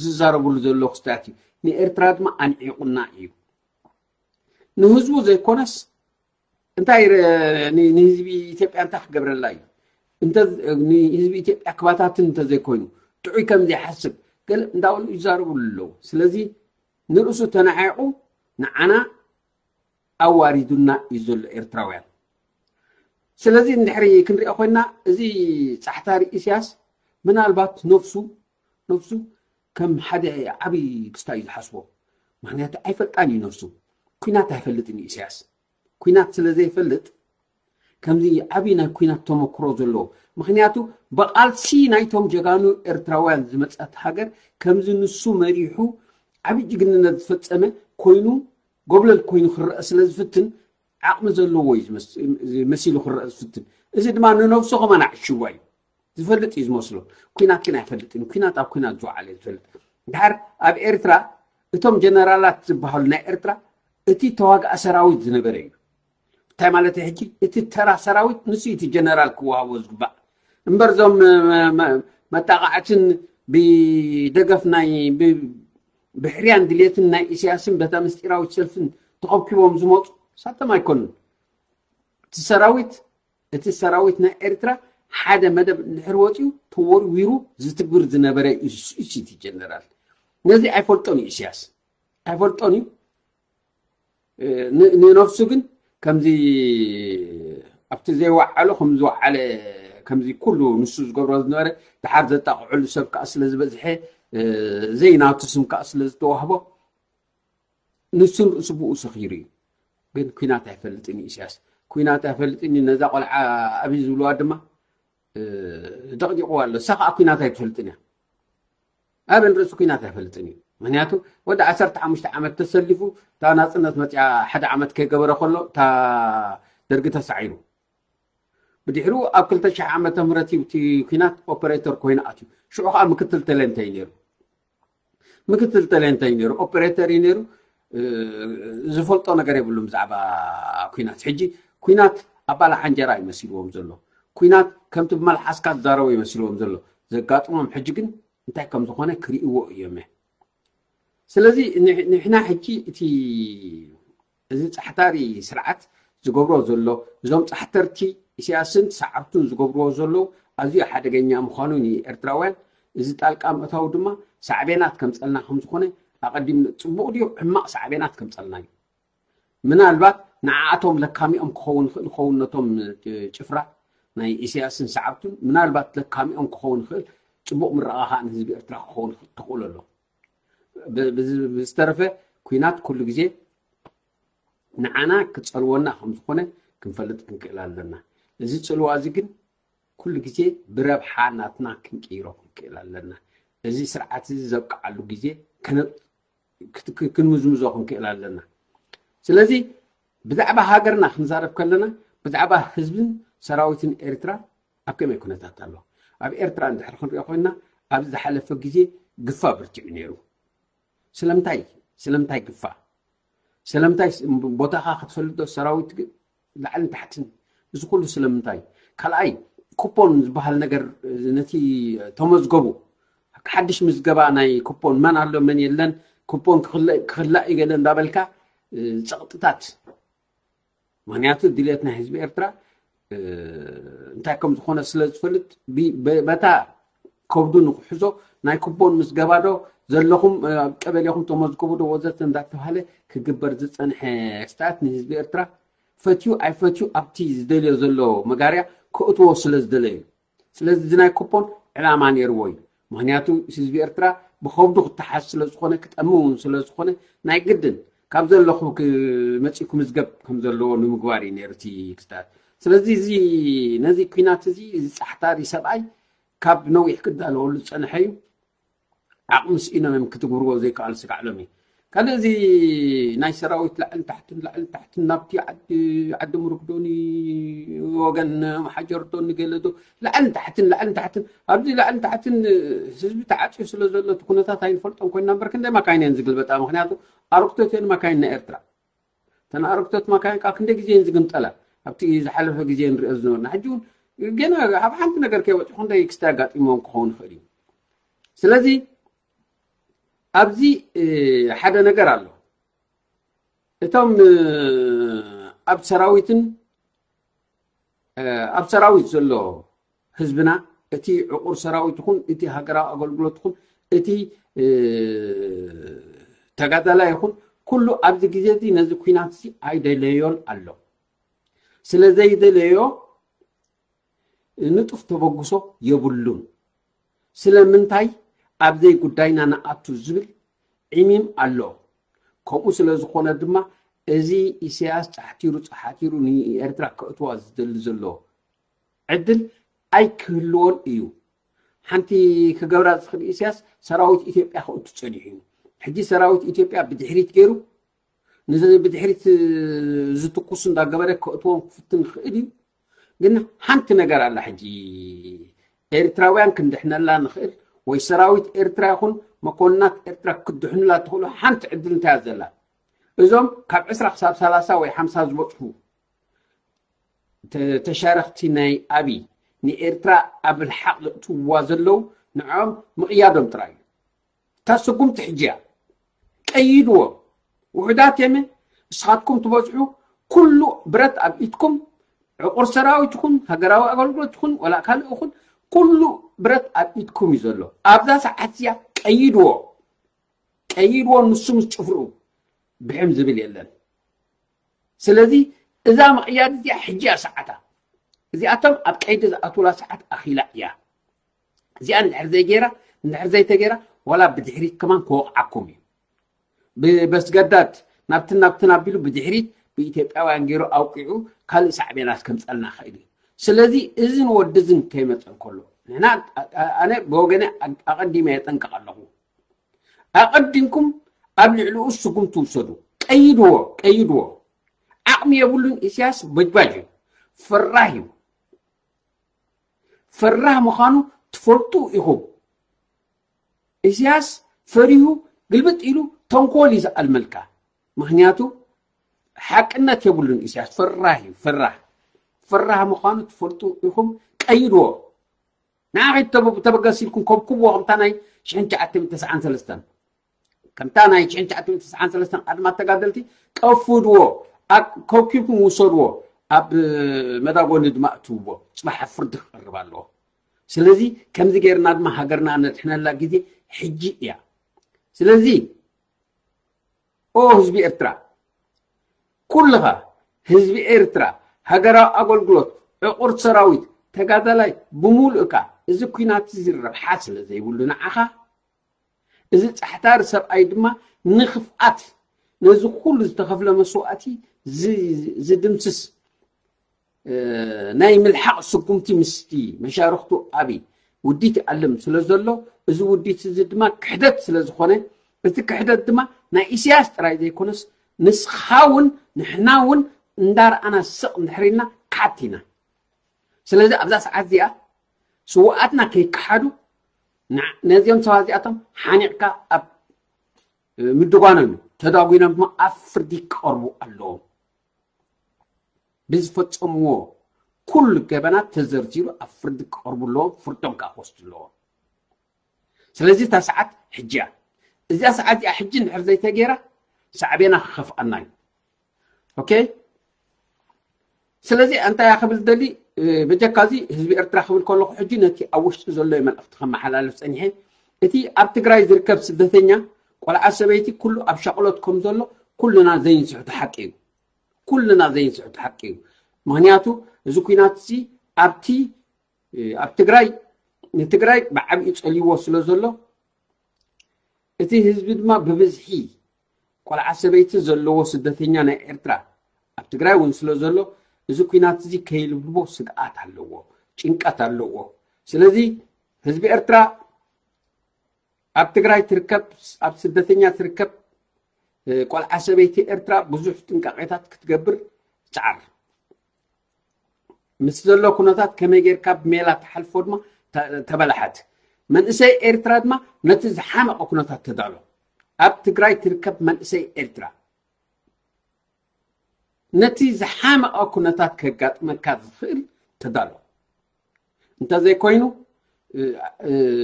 ዝዛረብሉ ዘሎ ክስታት እዩ። ንኤርትራ ድማ ኣንዒቑና እዩ። ንህዝቡ ዘይኮነስ እንታይ ንህዝቢ ኢትዮጵያ እንታይ ክገብረላ እዩ? ንህዝቢ ኢትዮጵያ ክባታትን እንተዘይኮይኑ ጥዑይ ከም ዘይሓስብ ገለ እንዳበሉ ይዛረብሉ ኣለዉ። ስለዚ ንርእሱ ተናዒቑ ንዓና ኣዋሪዱና እዩ ዘሎ ኤርትራውያን። ስለዚ እንድሕሪ ክንሪኦ ኮይና እዚ ጻሕታሪ ኢሳያስ ምናልባት ነፍሱ ነፍሱ ከም ሓደ ዓብዪ ክስታ እዩ ዝሓስቦ። ምክንያቱ ኣይፈልጣን እዩ ነፍሱ። ኩናት ኣይፈልጥን እዩ ኢሳያስ። ኩናት ስለ ዘይፈልጥ ከምዚ ዓብዪ ናይ ኩናት ተመክሮ ዘለዎ፣ ምክንያቱ ብቃልሲ ናይቶም ጀጋኑ ኤርትራውያን ዝመፀት ሃገር ከምዚ ንሱ መሪሑ ዓብዪ ጅግንነት ዝፈፀመ ኮይኑ ጎብለል ኮይኑ ክረአ ስለ ዝፍትን ዓቕሚ ዘለዎ እዩ መሲሉ ክረአ ዝፍትን። እዚ ድማ ንነብሱ ከማን ኣዕሽዋ እዩ ዝፈልጥ እዩ ዝመስሎ። ኩናት ግን ኣይፈልጥን። ኩናት ኣብ ኩናት ዝወዓለ ዝፈልጥ። ድሓር ኣብ ኤርትራ እቶም ጀነራላት ዝበሃሉ ናይ ኤርትራ እቲ ተዋጋእ ሰራዊት ዝነበረ እዩ። እንታይ ማለት ሕጂ እቲ ተራ ሰራዊት ንሱ እቲ ጀነራል ክወሃቦ ዝግባእ እምበር እዞም መጣቃዕትን ብደገፍ ናይ ብሕርያን ድሌትን ናይ ኢሳያስን በታ ምስጢራዊት ሰልፍን ተኸብኪቦም ዝመፁ ሳቶም ኣይኮኑን። እቲ ሰራዊት እቲ ሰራዊት ናይ ኤርትራ ሓደ መደብ እንድሕር ወፂኡ ተወርዊሩ ዝትግብር ዝነበረ ኢሲቲ ጀነራል። ነዚ ኣይፈልጦን እዩ ኢሳያስ፣ ኣይፈልጦን እዩ። ንነፍሱ ግን ከምዚ ኣብቲ ዘይወዓሎ ከም ዝወዓለ፣ ከምዚ ኩሉ ንሱ ዝገብሮ ዝነበረ ድሓር ዘጣቕዐሉ ሰብ ከዓ ስለ ዝበዝሐ፣ ዘይናቱ ስም ከዓ ስለ ዝተዋህቦ ንሱን ርእሱ ብኡ ሰኺሩ እዩ። ግን ኩናት ኣይፈልጥን እዩ ኢሳያስ። ኩናት ኣይፈልጥን እዩ። ነዛ ቆልዓ ኣብይ ዝብልዋ ድማ ደቕዲቕዋ ኣሎ። እሳ ከዓ ኩናት ኣይትፈልጥን እያ። ኣበን ርእሱ ኩናት ኣይፈልጥን እዩ። ምክንያቱ ወዲ ዓሰርተ ሓሙሽተ ዓመት ተሰሊፉ እታ ናፅነት መፅያ ሓደ ዓመት ከይገበረ ከሎ እታ ደርጊ ተሳዒሩ። ብድሕሩ ኣብ ክልተ ሽሕ ዓመተ ምህረት እዩ እቲ ኩናት ኦፐሬተር ኮይኑ ኣትዩ። ሽዑ ከዓ ምክትል ተሌንተ እዩ ነይሩ። ምክትል ተሌንተ እዩ ነይሩ፣ ኦፐሬተር እዩ ነይሩ። ዝፈልጦ ነገር የብሉም ብዛዕባ ኩናት። ሕጂ ኩናት ኣባላ ሓንጀራ ይመሲልዎም ዘሎ። ኩናት ከምቲ ብመልሓስካ ዝዛረቦ ይመሲልዎም ዘሎ። ዘጋጥሞም ሕጂ ግን እንታይ ከም ዝኾነ ክርእይዎ እዮም። ስለዚ ንሕና ሕጂ እቲ እዚ ጻሕታሪ ስርዓት ዝገብሮ ዘሎ፣ እዞም ጻሕተርቲ ኢሳያስን ሰዓብቱን ዝገብርዎ ዘለዉ ኣዝዩ ሓደገኛ ምዃኑ ንኤርትራውያን፣ እዚ ጣልቃ ምእታው ድማ ሳዕቤናት ከምጸልና ከም ዝኾነ ኣቐዲም ጽቡቕ ድዩ ሕማቕ ሳዕቤናት ከምጸልና እዩ። ምናልባት ንዓኣቶም ለካሚኦም ክኸውን ይኽእል ይኸውን ነቶም ጭፍራ ናይ ኢሳያስን ሰዓብቱን ምናልባት ለካሚኦም ክኸውን ይኽእል ጽቡቕ ምርቓ ኸኣ ንህዝቢ ኤርትራ ክኸውን ተኽእሎ ኣሎ። ብዝተረፈ ኩናት ኩሉ ግዜ ንዓና ክጸልወና ከም ዝኾነ ክንፈልጥ ክንክእል ኣለና። እዚ ጽልዋ እዚ ግን ኩሉ ግዜ ብረብሓ ናትና ክንቅይሮ ክንክእል ኣለና። እዚ ስርዓት እዚ ዘብቅዓሉ ግዜ ክንምዝምዞ ክንክእል ኣለና። ስለዚ ብዛዕባ ሃገርና ክንዛረብ ከለና ብዛዕባ ህዝብን ሰራዊትን ኤርትራ ኣብ ከመይ ኩነታት ኣሎ? ኣብ ኤርትራ እንድሕር ክንሪኦ ኮይንና ኣብዚ ዝሓለፈ ግዜ ግፋ ብርቲዑ ነይሩ። ስለምንታይ ስለምንታይ ግፋ ስለምንታይ ቦታኻ ክትፈልጥ ዶ ሰራዊት ላዕልን ታሕትን እዚ ኩሉ ስለምንታይ? ካልኣይ ኩፖን ዝበሃል ነገር ነቲ ተመዝገቡ ሓድሽ ምዝገባ ናይ ኩፖን መን ኣሎ መን የለን ኩፖን ክኽላእ እዩ ገለ እንዳበልካ ጸቕጥታት፣ ምክንያቱ ድልየት ናይ ህዝቢ ኤርትራ እንታይ ከም ዝኾነ ስለ ዝፈልጥ፣ በታ ከብዱ ንክሕዞ ናይ ኩቦን ምስ ገባዶ ዘለኹም ኣብ ቀበሌኹም ተመዝግቡ ዶ ወዘተ እንዳተባሃለ ክግበር ዝጸንሐ ስርዓት ንህዝቢ ኤርትራ ፈትዩ ኣይፈትዩ ኣብቲ ዝደልዮ ዘሎ መጋርያ ከእትዎ ስለ ዝደለዩ። ስለዚ እዚ ናይ ኩፖን ዕላማ ነይርዎ እዩ። ምክንያቱ ህዝቢ ኤርትራ ብኸብዱ ክተሓዝ ስለ ዝኾነ፣ ክጠሚ እውን ስለ ዝኾነ፣ ናይ ግድን ካብ ዘለኹ መፂኡ ክምዝገብ ከም ዘለዎ ንምግባር እዩ ነይሩ እቲ ክስታት። ስለዚ እዚ ነዚ ኲናት እዚ እዚ ፃሕታሪ ሰብኣይ ካብ ነዊሕ ክዳለወሉ ዝፀንሐ እዩ። ዓቕሚ ስኢኖም እዮም ክትግብርዎ ዘይከኣሉ ስጋዕሎም እዩ። ካልእ እዚ ናይ ሰራዊት ላዕልን ታሕትን ላዕልን ታሕትን ናብቲ ዓዲ ዓዲ ምርግዶኒ ወገን መሓጀርዶኒ ገለዶ ላዕልን ታሕትን ላዕልን ታሕትን ኣብዚ ላዕልን ታሕትን ህዝቢ ተዓፅዩ ስለ ዘሎ እቲ ኩነታት ኣይንፈልጦን ኮይንና እምበር ክንደይ ማካይን እየን ዝግልበጣ። ምክንያቱ ኣረግቶት እየን ማካይን ናይ ኤርትራ። እተን ኣረግቶት ማካይን ከዓ ክንደይ ግዜ እየን ዝግምጠላ ኣብቲ ዝሓለፈ ግዜ ንሪኦ ዝነበርና። ሕጂ እውን ገና ኣብ ሓንቲ ነገር ከይበፅሑ ክንደይ ክስታይ ኣጋጢሞም ክኸውን ይኽእል እዩ። ስለዚ ኣብዚ ሓደ ነገር ኣሎ። እቶም ኣብ ሰራዊትን ኣብ ሰራዊት ዘሎ ህዝብና፣ እቲ ዕቑር ሰራዊት ይኹን እቲ ሃገራዊ ኣገልግሎት ይኹን እቲ ተጋዳላይ ይኹን ኩሉ ኣብዚ ግዜ እዚ ነዚ ኲናት እዚ ኣይደለዮን ኣሎ። ስለ ዘይደለዮ ንጡፍ ተበግሶ የብሉን። ስለምንታይ ኣብ ዘይጉዳይና ንኣቱ ዝብል ዒሚም ኣሎ። ከምኡ ስለ ዝኾነ ድማ እዚ ኢሳያስ ጻሕቲሩ ጻሓቲሩ ንኤርትራ ከእትዋ ዝደሊ ዘሎ ዕድል ኣይክህልዎን እዩ። ሓንቲ ክገብራ ዝኽእል ኢሳያስ ሰራዊት ኢትዮጵያ ከእቱ ጸኒሑ እዩ። ሕጂ ሰራዊት ኢትዮጵያ ብድሕሪት ገይሩ ንዚ ብድሕሪት ዝትኩሱ እንዳገበረ ከእትዎም ክፍትን ይኽእል እዩ። ግን ሓንቲ ነገር ኣላ ሕጂ ኤርትራውያን ክንድሕነላ ንኽእል ወይ ሰራዊት ኤርትራ ይኹን መኮንናት ኤርትራ ክትድሕኑላ ትኽእሉ ሓንቲ ዕድል እንታይ እያ ዘላ? እዞም ካብ ዕስራ ክሳብ ሰላሳ ወይ ሓምሳ ዝበጽሑ ተሻረኽቲ ናይ ኣብይ ንኤርትራ ኣብ ልሓቕ ዘእትውዋ ዘለዉ ንዕኦም ምቕያዶም ጥራይ እዩ። እታ ስጉምቲ ሕጂ እያ። ቀይድዎ። ውሑዳት የመ ንስኻትኩም ትበዝሑ ኩሉ ብረት ኣብ ኢድኩም ዕቑር ሰራዊት ይኹን ሃገራዊ ኣገልግሎት ይኹን ወላ ካልእ ይኹን ኩሉ ብረት ኣብ ኢድኩም እዩ ዘሎ። ኣብዛ ሰዓት እዚኣ ቀይድዎ። ቀይድዎ ንሱ ምስ ጭፍርኡ ብሕም ዝብል የለን። ስለዚ እዛ ምቕያድ እዚኣ ሕጂ እያ ሰዓታ። እዚኣቶም ኣብ ቀይዲ ዝኣትውላ ሰዓት ኣኺላ እያ። እዚኣ እንድሕር ዘይገይራ እንድሕር ዘይተገይራ ዋላ ብድሕሪት ከማን ክወቕዓኩም እዩ። ብበስገዳድ ናብትን ናብትን ኣቢሉ ብድሕሪት ብኢትዮጵያውያን ገይሩ ኣውቂዑ ካልእ ሳዕቤናት ከምፀልና ክእል እዩ። ስለዚ እዝን ወዲ እዝን ከይመፀ እንከሎ ንሕና ኣነ ብወገነ ኣቐዲመ የጠንቅቕ ኣለኹ። ኣቐዲምኩም ኣብ ልዕሊኡ ስጉምቲ ውሰዱ። ቀይድዎ፣ ቀይድዎ። ዓቕሚ የብሉን። ኢሳያስ በጅባጅ እዩ፣ ፈራህ እዩ። ፈራህ ምዃኑ ትፈልጡ ኢኹም። ኢሳያስ ፈሪሁ ግልብጥ ኢሉ ተንኮል እዩ ዝኣልመልካ። ምክንያቱ ሓቅነት የብሉን። ኢሳያስ ፈራህ እዩ፣ ፈራህ። ፈራህ ምዃኑ ትፈልጡ ኢኹም። ቀይድዎ። ንዓ ከይተበገስ ኢልኩም ከብክብዎ ከምታ ናይ ሽሕን ትሽዓተ ሚእትን ተስዓን ሰለስተን ከምታ ናይ ሽሕን ትሽዓተ ሚእትን ተስዓን ሰለስተን ኣድማ ተጋደልቲ ቀፍድዎ፣ ከብኪብኩም ውሰድዎ፣ ኣብ መዳጎኒ ድማ እትውዎ። ፅባሕ ኣብ ፍርዲ ክቐርብ ኣለዎ። ስለዚ ከምዚ ገይርና ድማ ሃገርና ነድሕነላ ግዜ ሕጂ እያ። ስለዚ ኦ ህዝቢ ኤርትራ ኩልኻ ህዝቢ ኤርትራ ሃገራዊ ኣገልግሎት ዕቑር ሰራዊት ተጋዳላይ ብምሉእካ እዚ ኲናት እዚ ረብሓ ስለ ዘይብሉ ንዓኻ እዚ ጻሕታሪ ሰብኣይ ድማ ንኽፍኣት ነዚ ኩሉ ዝተኸፍለ መስዋእቲ ዝድምስስ ናይ ምልሓቕ ስጉምቲ ምስቲ መሻርኽቱ ኣብይ ውዲት ይኣልም ስለ ዘሎ እዚ ውዲት እዚ ድማ ክሕደት ስለ ዝኾነ እቲ ክሕደት ድማ ናይ ኢሳያስ ጥራይ ዘይኮነስ ንስኻ እውን ንሕና እውን እንዳረኣና ስቕ እንድሕር ኢልና ክሓት ኢና። ስለዚ ኣብዛ ሰዓት እዚኣ ስውኣትና ከይከሓዱ ነዚኦም ሰባት እዚኣቶም ሓኒቕካ ኣብ ምድጓኖም እዩ። ተዳጒኖም ድማ ኣብ ፍርዲ ክቐርቡ ኣለዎም። ብዝፈጸምዎ ኩሉ ገበናት ተዘርዚሩ ኣብ ፍርዲ ክቐርቡ ኣለዎም። ፍርዶም ከዓ ክወስዱ ኣለዎም። ስለዚ እታ ሰዓት ሕጂ እያ። እዚኣ ሰዓት እዚኣ ሕጂ እንድሕር ዘይተገይራ ሳዕቤና ክኸፍኣና እዩ። ኦኬ። ስለዚ እንታይ ክብል ደሊ፣ በጀካ እዚ ህዝቢ ኤርትራ ክብል ከለኹ ሕጂ ነቲ ኣብ ውሽጢ ዘሎ መልእኽቲ ከመሓላልፍ ፀኒሐ። እቲ ኣብ ትግራይ ዝርከብ ስደተኛ፣ ቆልዓ፣ ሰበይቲ ኩሉ ኣብ ሻቕሎት ከም ዘሎ ኩልና ዘይንስሕቶ ሓቂ እዩ። ኩልና ዘይንስሕቶ ሓቂ እዩ። ምክንያቱ እዚ ኩናት እዚ ኣብቲ ኣብ ትግራይ ንትግራይ ብዓብዩ ፀልይዎ ስለ ዘሎ፣ እቲ ህዝቢ ድማ ብብዝሒ ቆልዓ፣ ሰበይቲ ዘለዎ ስደተኛ ናይ ኤርትራ ኣብ ትግራይ እውን ስለ ዘሎ፣ እዚ ኩናት እዚ ከይልብልቦ ስግኣት ኣለዎ፣ ጭንቀት ኣለዎ። ስለዚ ህዝቢ ኤርትራ ኣብ ትግራይ ትርከብ፣ ኣብ ስደተኛ ትርከብ ቆልዓ፣ ሰበይቲ ኤርትራ ብዙሕ ጥንቃቄታት ክትገብር ትፅዓር። ምስ ዘሎ ኩነታት ከመይ ጌርካ ብሜላ ትሓልፎ ድማ ተበላሓት። መንእሰይ ኤርትራ ድማ ነቲ ዝሓመቐ ኩነታት ተዳሎ። ኣብ ትግራይ ትርከብ መንእሰይ ኤርትራ ነቲ ዝሓመቐ ኩነታት ከጋጥመካ ዝኽእል ተዳሎ። እንተዘይኮይኑ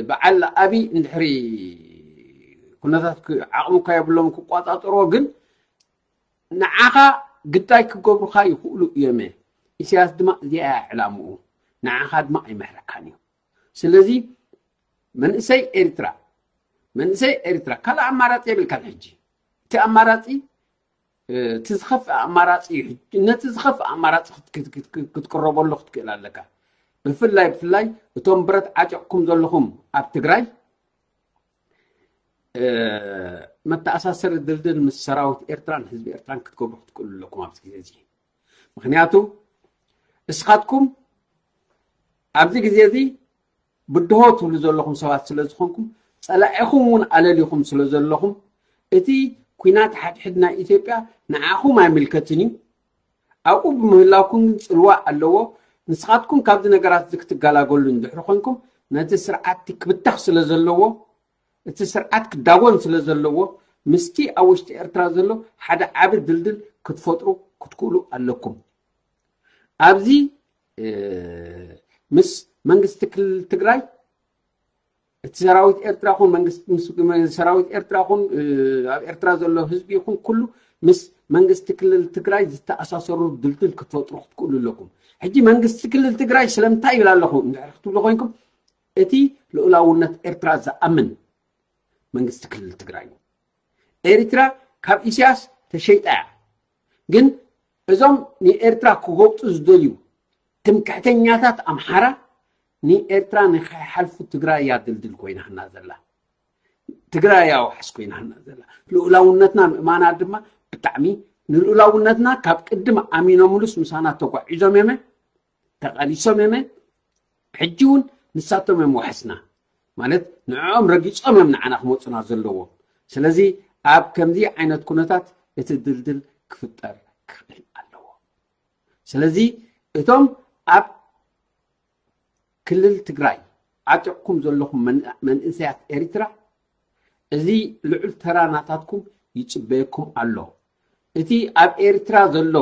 በዓል ኣብይ እንድሕሪ ኩነታት ዓቕሚ እኳ የብሎም ክቋፃፀርዎ፣ ግን ንዓኻ ግዳይ ክገብሩኻ ይኽእሉ እዮም። ኢሳያስ ድማ እዚኣ ዕላምኡ፣ ንዓኻ ድማ ኣይመሕረካን እዩ። ስለዚ መንእሰይ ኤርትራ መንእሰይ ኤርትራ ካልእ ኣማራፂ የብልካን። ሕጂ እቲ ኣማራፂ እቲ ዝኸፍእ ኣማራፂ እዩ። ነቲ ዝኸፍእ ኣማራፂ ክትቅረበሉ ክትክእል ኣለካ። ብፍላይ ብፍላይ እቶም ብረት ዓጢቕኩም ዘለኹም ኣብ ትግራይ መተኣሳሰሪ ድልድል ምስ ሰራዊት ኤርትራን ህዝቢ ኤርትራን ክትገብሩ ክትክእሉ ኣለኩም ኣብዚ ግዜ እዚ። ምክንያቱ እስኻትኩም ኣብዚ ግዜ እዚ ብድሆ ትብሉ ዘለኹም ሰባት ስለ ዝኾንኩም፣ ጸላኢኹም እውን ኣለሊኹም ስለ ዘለኹም፣ እቲ ኩናት ሓድሕድ ናይ ኢትዮጵያ ንዓኹም ኣይምልከትን እዩ። ኣብኡ ብምህላውኩም ግን ጽልዋ ኣለዎ። ንስኻትኩም ካብዚ ነገራት እዚ ክትገላገሉ እንድሕሪ ኮንኩም፣ ነቲ ስርዓት ክብተኽ ስለ ዘለዎ፣ እቲ ስርዓት ክዳጎን ስለ ዘለዎ፣ ምስቲ ኣብ ውሽጢ ኤርትራ ዘሎ ሓደ ዓቢ ድልድል ክትፈጥሩ ክትክእሉ ኣለኩም። ኣብዚ ምስ መንግስቲ ክልል ትግራይ፣ እቲ ሰራዊት ኤርትራ ኹን ሰራዊት ኤርትራ ኹን ኣብ ኤርትራ ዘሎ ህዝቢ ይኹን ኩሉ ምስ መንግስቲ ክልል ትግራይ ዝተኣሳሰሩ ድልድል ክትፈጥሩ ክትክእሉ ኣለኩም። ሕጂ መንግስቲ ክልል ትግራይ ስለምንታይ ይብል ኣለኹ እንድሕር ክትብሉ ኮይንኩም፣ እቲ ልኡላውነት ኤርትራ ዝኣምን መንግስቲ ክልል ትግራይ እዩ። ኤርትራ ካብ ኢሳያስ ተሸይጣ እያ። ግን እዞም ንኤርትራ ክጎብጡ ዝደልዩ ትምክሕተኛታት ኣምሓራ ንኤርትራ ንኸይሓልፉ ትግራይ እያ ድልድል ኮይናና ዘላ። ትግራይ እያ ዋሕስ ኮይናና ዘላ። ልኡላውነትና ምእማና ድማ ብጣዕሚ፣ ንልኡላውነትና ካብ ቅድም ኣሚኖምሉስ ምሳና ተጓዒዞም እዮም፣ ተቓሊሶም እዮም። ሕጂ እውን ንሳቶም እዮም ዋሕስና። ማለት ንዕኦም ረጊጾም እዮም ንዓና ክመፁና ዘለዎ። ስለዚ ኣብ ከምዚ ዓይነት ኩነታት እቲ ድልድል ክፍጠር ክኽእል ኣለዎ። ስለዚ እቶም ኣብ ክልል ትግራይ ዓጢቕኩም ዘለኹም መንእሰያት ኤርትራ፣ እዚ ልዑል ተራ ናታትኩም ይጽበየኩም ኣሎ። እቲ ኣብ ኤርትራ ዘሎ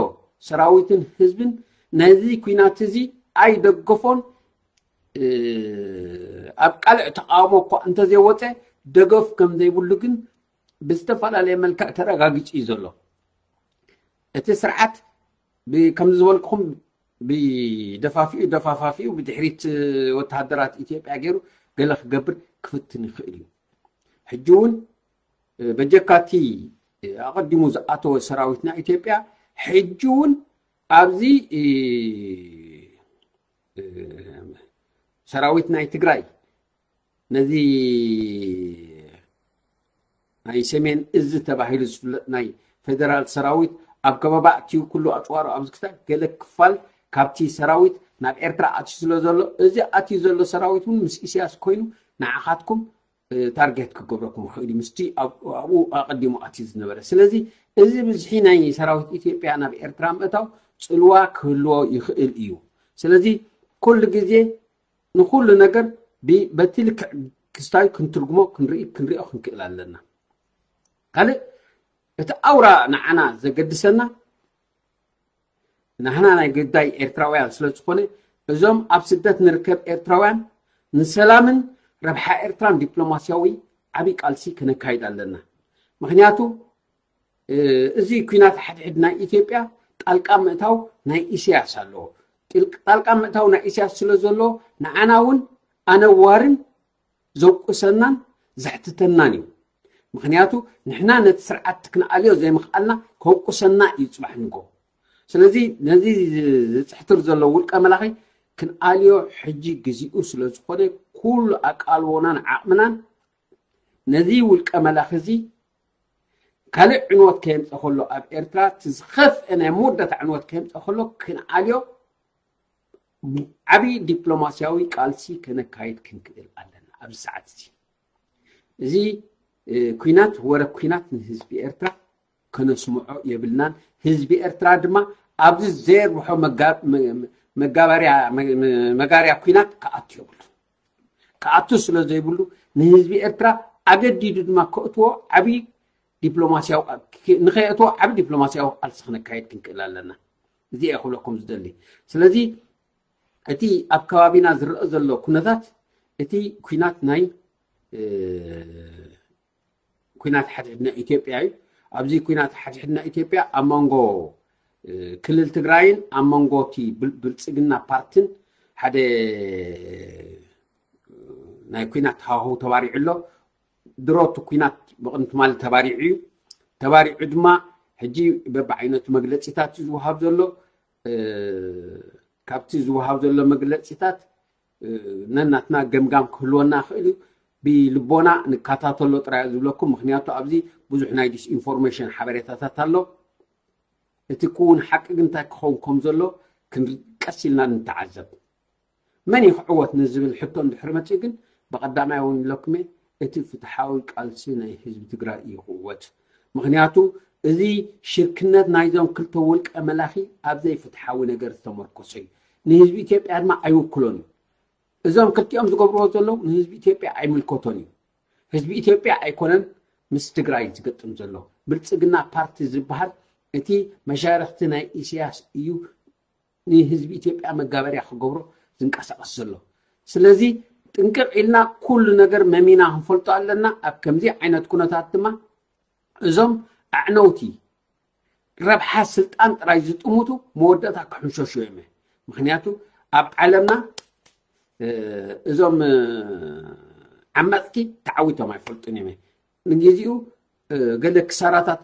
ሰራዊትን ህዝብን ነዚ ኲናት እዚ ኣይደገፎን፣ ኣብ ቃልዕ ተቓውሞ እኳ እንተዘይወፀ ደገፍ ከም ዘይብሉ ግን ብዝተፈላለየ መልክዕ ተረጋጊጹ እዩ ዘሎ። እቲ ስርዓት ከምዚ ዝበልኩኹም ብደፋፊኡ ደፋፋፊኡ ብድሕሪት ወተሃደራት ኢትዮጵያ ገይሩ ገለ ክገብር ክፍትን ይኽእል እዩ። ሕጂ እውን በጀካቲ ኣቐዲሙ ዝኣተወ ሰራዊትና ኢትዮጵያ ሕጂ እውን ኣብዚ ሰራዊት ናይ ትግራይ ነዚ ናይ ሰሜን እዚ ተባሂሉ ዝፍለጥ ናይ ፌደራል ሰራዊት ኣብ ከባቢ ኣትዩ ኩሉ ኣፅዋሩ ኣብዚ ክሳብ ገለ ክፋል ካብቲ ሰራዊት ናብ ኤርትራ ኣትዩ ስለ ዘሎ፣ እዚ ኣትዩ ዘሎ ሰራዊት እውን ምስ ኢሳያስ ኮይኑ ንዓኻትኩም ታርጌት ክገብረኩም ይኽእል እዩ፣ ምስቲ ኣብኡ ኣቐዲሙ ኣትዩ ዝነበረ። ስለዚ እዚ ብዝሒ ናይ ሰራዊት ኢትዮጵያ ናብ ኤርትራ ምእታው ፅልዋ ክህልዎ ይኽእል እዩ። ስለዚ ኩሉ ግዜ ንኹሉ ነገር በቲ ልክዕ ክስታዩ ክንትርጉሞ ክንርኢ ክንሪኦ ክንክእል ኣለና። ካልእ እቲ ኣውራ ንዓና ዘገድሰና ናህና ናይ ግዳይ ኤርትራውያን ስለ ዝኾነ እዞም ኣብ ስደት ንርከብ ኤርትራውያን ንሰላምን ረብሓ ኤርትራን ዲፕሎማስያዊ ዓብዪ ቃልሲ ከነካይድ ኣለና። ምክንያቱ እዚ ኩናት ሓድሕድ ናይ ኢትዮጵያ ጣልቃ ምእታው ናይ ኢሳያስ ኣለዎ። ጣልቃ ምእታው ናይ ኢሳያስ ስለ ዘሎ ንዓና እውን ኣነዋርን ዘውቅሰናን ዘሕትተናን እዩ። ምክንያቱ ንሕና ነቲ ስርዓት ክንኣልዮ ዘይምኽኣልና ከውቅሰና እዩ ፅባሕ ንጎ። ስለዚ ነዚ ዝፅሕትር ዘሎ ውልቀ መላኺ ክንኣልዮ ሕጂ ግዜኡ ስለ ዝኾነ ኩሉ ኣቃልቦናን ዓቕምናን ነዚ ውልቀ መላኺ እዚ ካልእ ዕንወት ከየምፀ ከሎ ኣብ ኤርትራ እቲ ዝኸፍአ ናይ መወዳእታ ዕንወት ከየምፀ ከሎ ክንኣልዮ ዓብዪ ዲፕሎማስያዊ ቃልሲ ከነካይድ ክንክእል ኣለና። ኣብዚ ሰዓት እዚ እዚ ኩናት ወረ ኩናት ንህዝቢ ኤርትራ ከነስምዖ የብልናን። ህዝቢ ኤርትራ ድማ ኣብዚ ዘየርብሖ መጋበርያ መጋርያ ኩናት ክኣቱ የብሉ። ክኣቱ ስለ ዘይብሉ ንህዝቢ ኤርትራ ኣገዲዱ ድማ ከእትዎ ዓብዪ ዲፕሎማስያዊ ንኸየእትዎ ዓብዪ ዲፕሎማስያዊ ቃልሲ ክነካየድ ክንክእል ኣለና። እዚ እየ ክብለኩም ዝደሊ። ስለዚ እቲ ኣብ ከባቢና ዝረአ ዘሎ ኩነታት እቲ ኩናት ናይ ኩናት ሓድሕድና ኢትዮጵያ እዩ። ኣብዚ ኩናት ሓድሕድና ኢትዮጵያ ኣብ መንጎ ክልል ትግራይን ኣብ መንጎ እቲ ብልፅግና ፓርትን ሓደ ናይ ኩናት ሃዋህው ተባሪዑ ኣሎ። ድሮ እቲ ኩናት ብቕድሚ ትማሊ ተባሪዑ እዩ። ተባሪዑ ድማ ሕጂ በብዓይነቱ መግለፂታት እዩ ዝወሃብ ዘሎ። ካብቲ ዝወሃብ ዘሎ መግለፂታት ነናትና ገምጋም ክህልወና ይኽእል እዩ። ብልቦና ንከታተሎ ጥራይ ዝብለኩም፣ ምክንያቱ ኣብዚ ብዙሕ ናይ ዲስኢንፎርሜሽን ሓበሬታታት ኣሎ። እቲ ክውን ሓቂ ግን እንታይ ክኸውን ከም ዘሎ ክንቀስ ኢልና ንተዓዘብ። መን እዩ ክዕወት ንዝብል ሕቶ እንድሕር መፅእ ግን ብቐዳማይ እውን ኢለኩም እየ፣ እቲ ፍትሓዊ ቃልሲ ናይ ህዝቢ ትግራይ እዩ ክዕወት። ምክንያቱ እዚ ሽርክነት ናይዞም ክልተ ውልቀ መላኺ ኣብ ዘይፍትሓዊ ነገር ዝተመርኮሰ እዩ። ንህዝቢ ኢትዮጵያ ድማ ኣይውክሎን እዩ። እዞም ክልቲኦም ዝገብርዎ ዘለዉ ንህዝቢ ኢትዮጵያ ኣይምልከቶን እዩ። ህዝቢ ኢትዮጵያ ኣይኮነን ምስ ትግራይ ዝገጥም ዘሎ። ብልፅግና ፓርቲ ዝበሃል እቲ መሻርክቲ ናይ ኢሳያስ እዩ ንህዝቢ ኢትዮጵያ መጋበርያ ክገብሮ ዝንቀሳቐስ ዘሎ። ስለዚ ጥንቅቕ ኢልና ኩሉ ነገር መሚና ክንፈልጦ ኣለና። ኣብ ከምዚ ዓይነት ኩነታት ድማ እዞም ኣዕነውቲ ረብሓ ስልጣን ጥራይ ዝጥምቱ መወዳእታ ክሕንሸሹ እዮም። ምክንያቱ ኣብ ዓለምና እዞም ዓመፅቲ ተዓዊቶም ኣይፈልጡን እዮም። ንግዜኡ ገለ ክሳራታት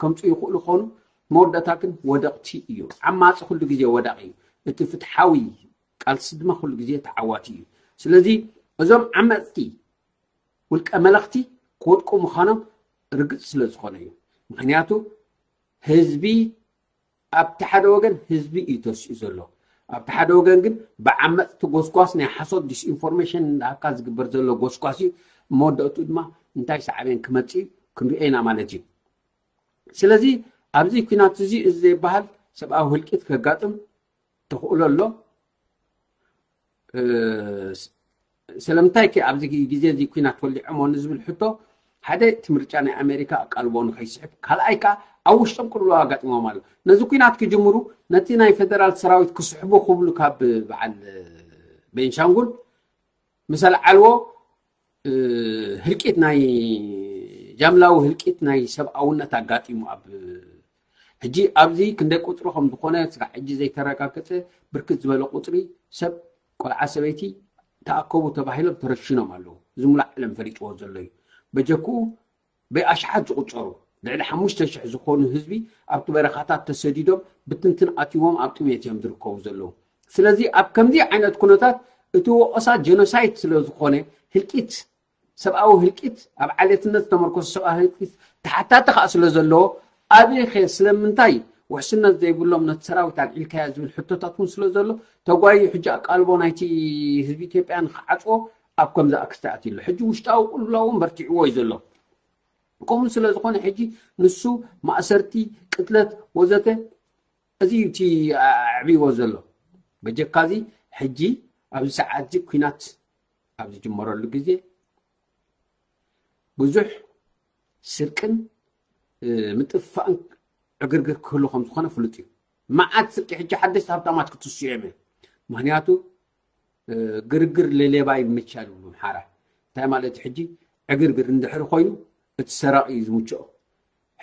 ከምፁ ይኽእሉ ኾኑ፣ መወዳእታ ግን ወደቕቲ እዩ። ዓማፂ ኩሉ ግዜ ወዳቕ እዩ። እቲ ፍትሓዊ ቃልሲ ድማ ኩሉ ግዜ ተዓዋቲ እዩ። ስለዚ እዞም ዓመፅቲ ውልቀ መለኽቲ ክወድቁ ምዃኖም ርግፅ ስለ ዝኾነ እዩ። ምክንያቱ ህዝቢ ኣብቲ ሓደ ወገን ህዝቢ እዩ ተሲኡ ዘሎ። ኣብቲ ሓደ ወገን ግን ብዓመፅቲ ጎስጓስ ናይ ሓሶት ዲስኢንፎርሜሽን እንዳሃብካ ዝግበር ዘሎ ጎስጓስ እዩ። መወዳእቱ ድማ እንታይ ሳዕቤን ክመፅእ እዩ ክንሪኦ ኢና ማለት እዩ። ስለዚ ኣብዚ ኩናት እዚ እዚ ዘይበሃል ሰብኣዊ ህልቂት ከጋጥም ተኽእሎ ኣሎ። ስለምንታይ ከ ኣብዚ ግዜ እዚ ኩናት ወሊዖሞ ንዝብል ሕቶ ሓደ እቲ ምርጫ ናይ ኣሜሪካ ኣቃልቦ ንኸይስሕብ፣ ካልኣይ ከዓ ኣብ ውሽጦም ቅልውላው ኣጋጢሞም ኣሎ። ነዚ ኩናት ክጅምሩ ነቲ ናይ ፌደራል ሰራዊት ክስሕቡ ክብሉ ካብ በዓል ቤንሻንጉል ምስ ኣልዓልዎ ህልቂት ናይ ጃምላዊ ህልቂት ናይ ሰብኣውነት ኣጋጢሙ ኣብ ሕጂ ኣብዚ ክንደይ ቁፅሪ ከም ዝኾነ ስጋዕ ሕጂ ዘይተረጋገፀ ብርክት ዝበለ ቁፅሪ ሰብ ቆልዓ ሰበይቲ ተኣከቡ ተባሂሎም ተረሽኖም ኣለዉ። እዚ ሙሉእ ዓለም ፈሊጥዎ ዘሎ እዩ። በጀክኡ ብኣሽሓት ዝቑፀሩ ልዕሊ ሓሙሽተ ሽሕ ዝኾኑ ህዝቢ ኣብቲ በረኻታት ተሰዲዶም ብትንትን ኣትይዎም ኣብ ጥሜት እዮም ዝርከቡ ዘለዉ። ስለዚ ኣብ ከምዚ ዓይነት ኩነታት እቲ ወቐሳ ጀኖሳይድ ስለ ዝኾነ ህልቂት ሰብኣዊ ህልቂት ኣብ ዓሌትነት ዝተመርኮሰ ሰብኣዊ ህልቂት ተሓታቲ ከዓ ስለ ዘለዎ ኣብይኸ ስለምንታይ ውሕስነት ዘይብሎም ነቲ ሰራዊት ኣልዒልካዮ ዝብል ሕቶታት እውን ስለ ዘሎ ተጓዩ ሕጂ ኣቃልቦ ናይቲ ህዝቢ ኢትዮጵያ ንክዓፅዎ ኣብ ከምዚ ኣክስቲ ኣትዩ ኣሎ። ሕጂ ውሽጣዊ ቅልውላው እውን በርቲዕዎ እዩ ዘሎ። ከምኡ ስለ ዝኾነ ሕጂ ንሱ ማእሰርቲ፣ ቅትለት ወዘተ እዚ እዩ እቲ ኣዕብይዎ ዘሎ። በጀካ እዚ ሕጂ ኣብዚ ሰዓት እዚ ኩናት ኣብ ዝጅመረሉ ግዜ ብዙሕ ስርቅን ምጥፋእን ዕግርግር ክህሉ ከም ዝኾነ ፍሉጥ እዩ። መዓት ስርቂ ሕጂ ሓደሽቲ ሃብታማት ክትስኡ እዮም። ምክንያቱ ግርግር ለሌባ ይምቻል ይብሉ ኣምሓራ። እንታይ ማለት እዩ? ሕጂ ዕግርግር እንድሕር ኮይኑ እቲ ሰራቂ እዩ ዝምችኦ።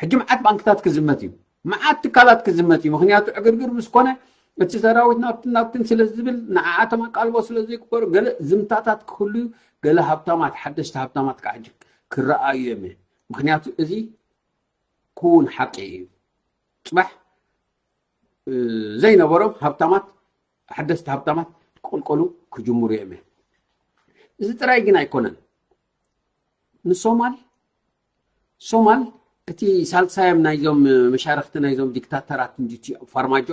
ሕጂ መዓት ባንክታት ክዝመት እዩ፣ መዓት ትካላት ክዝመት እዩ። ምክንያቱ ዕግርግር ምስ ኮነ እቲ ሰራዊት ናብትን ናብትን ስለ ዝብል፣ ንዓኣቶም ኣቃልቦ ስለ ዘይግበሩ፣ ገለ ዝምታታት ክህሉ፣ ገለ ሃብታማት፣ ሓደሽቲ ሃብታማት ከዓ ሕጂ ክረኣዩ እዮም። ምክንያቱ እዚ ክውን ሓቂ እዩ። ፅባሕ ዘይነበሮም ሃብታማት፣ ሓደስቲ ሃብታማት ክቕልቀሉ ክጅምሩ እዮም። እዚ ጥራይ ግን ኣይኮነን። ንሶማል ሶማል እቲ ሳልሳዮም ናይዞም መሻርክቲ ናይዞም ዲክታተራት እንዲቲ ፋርማጆ።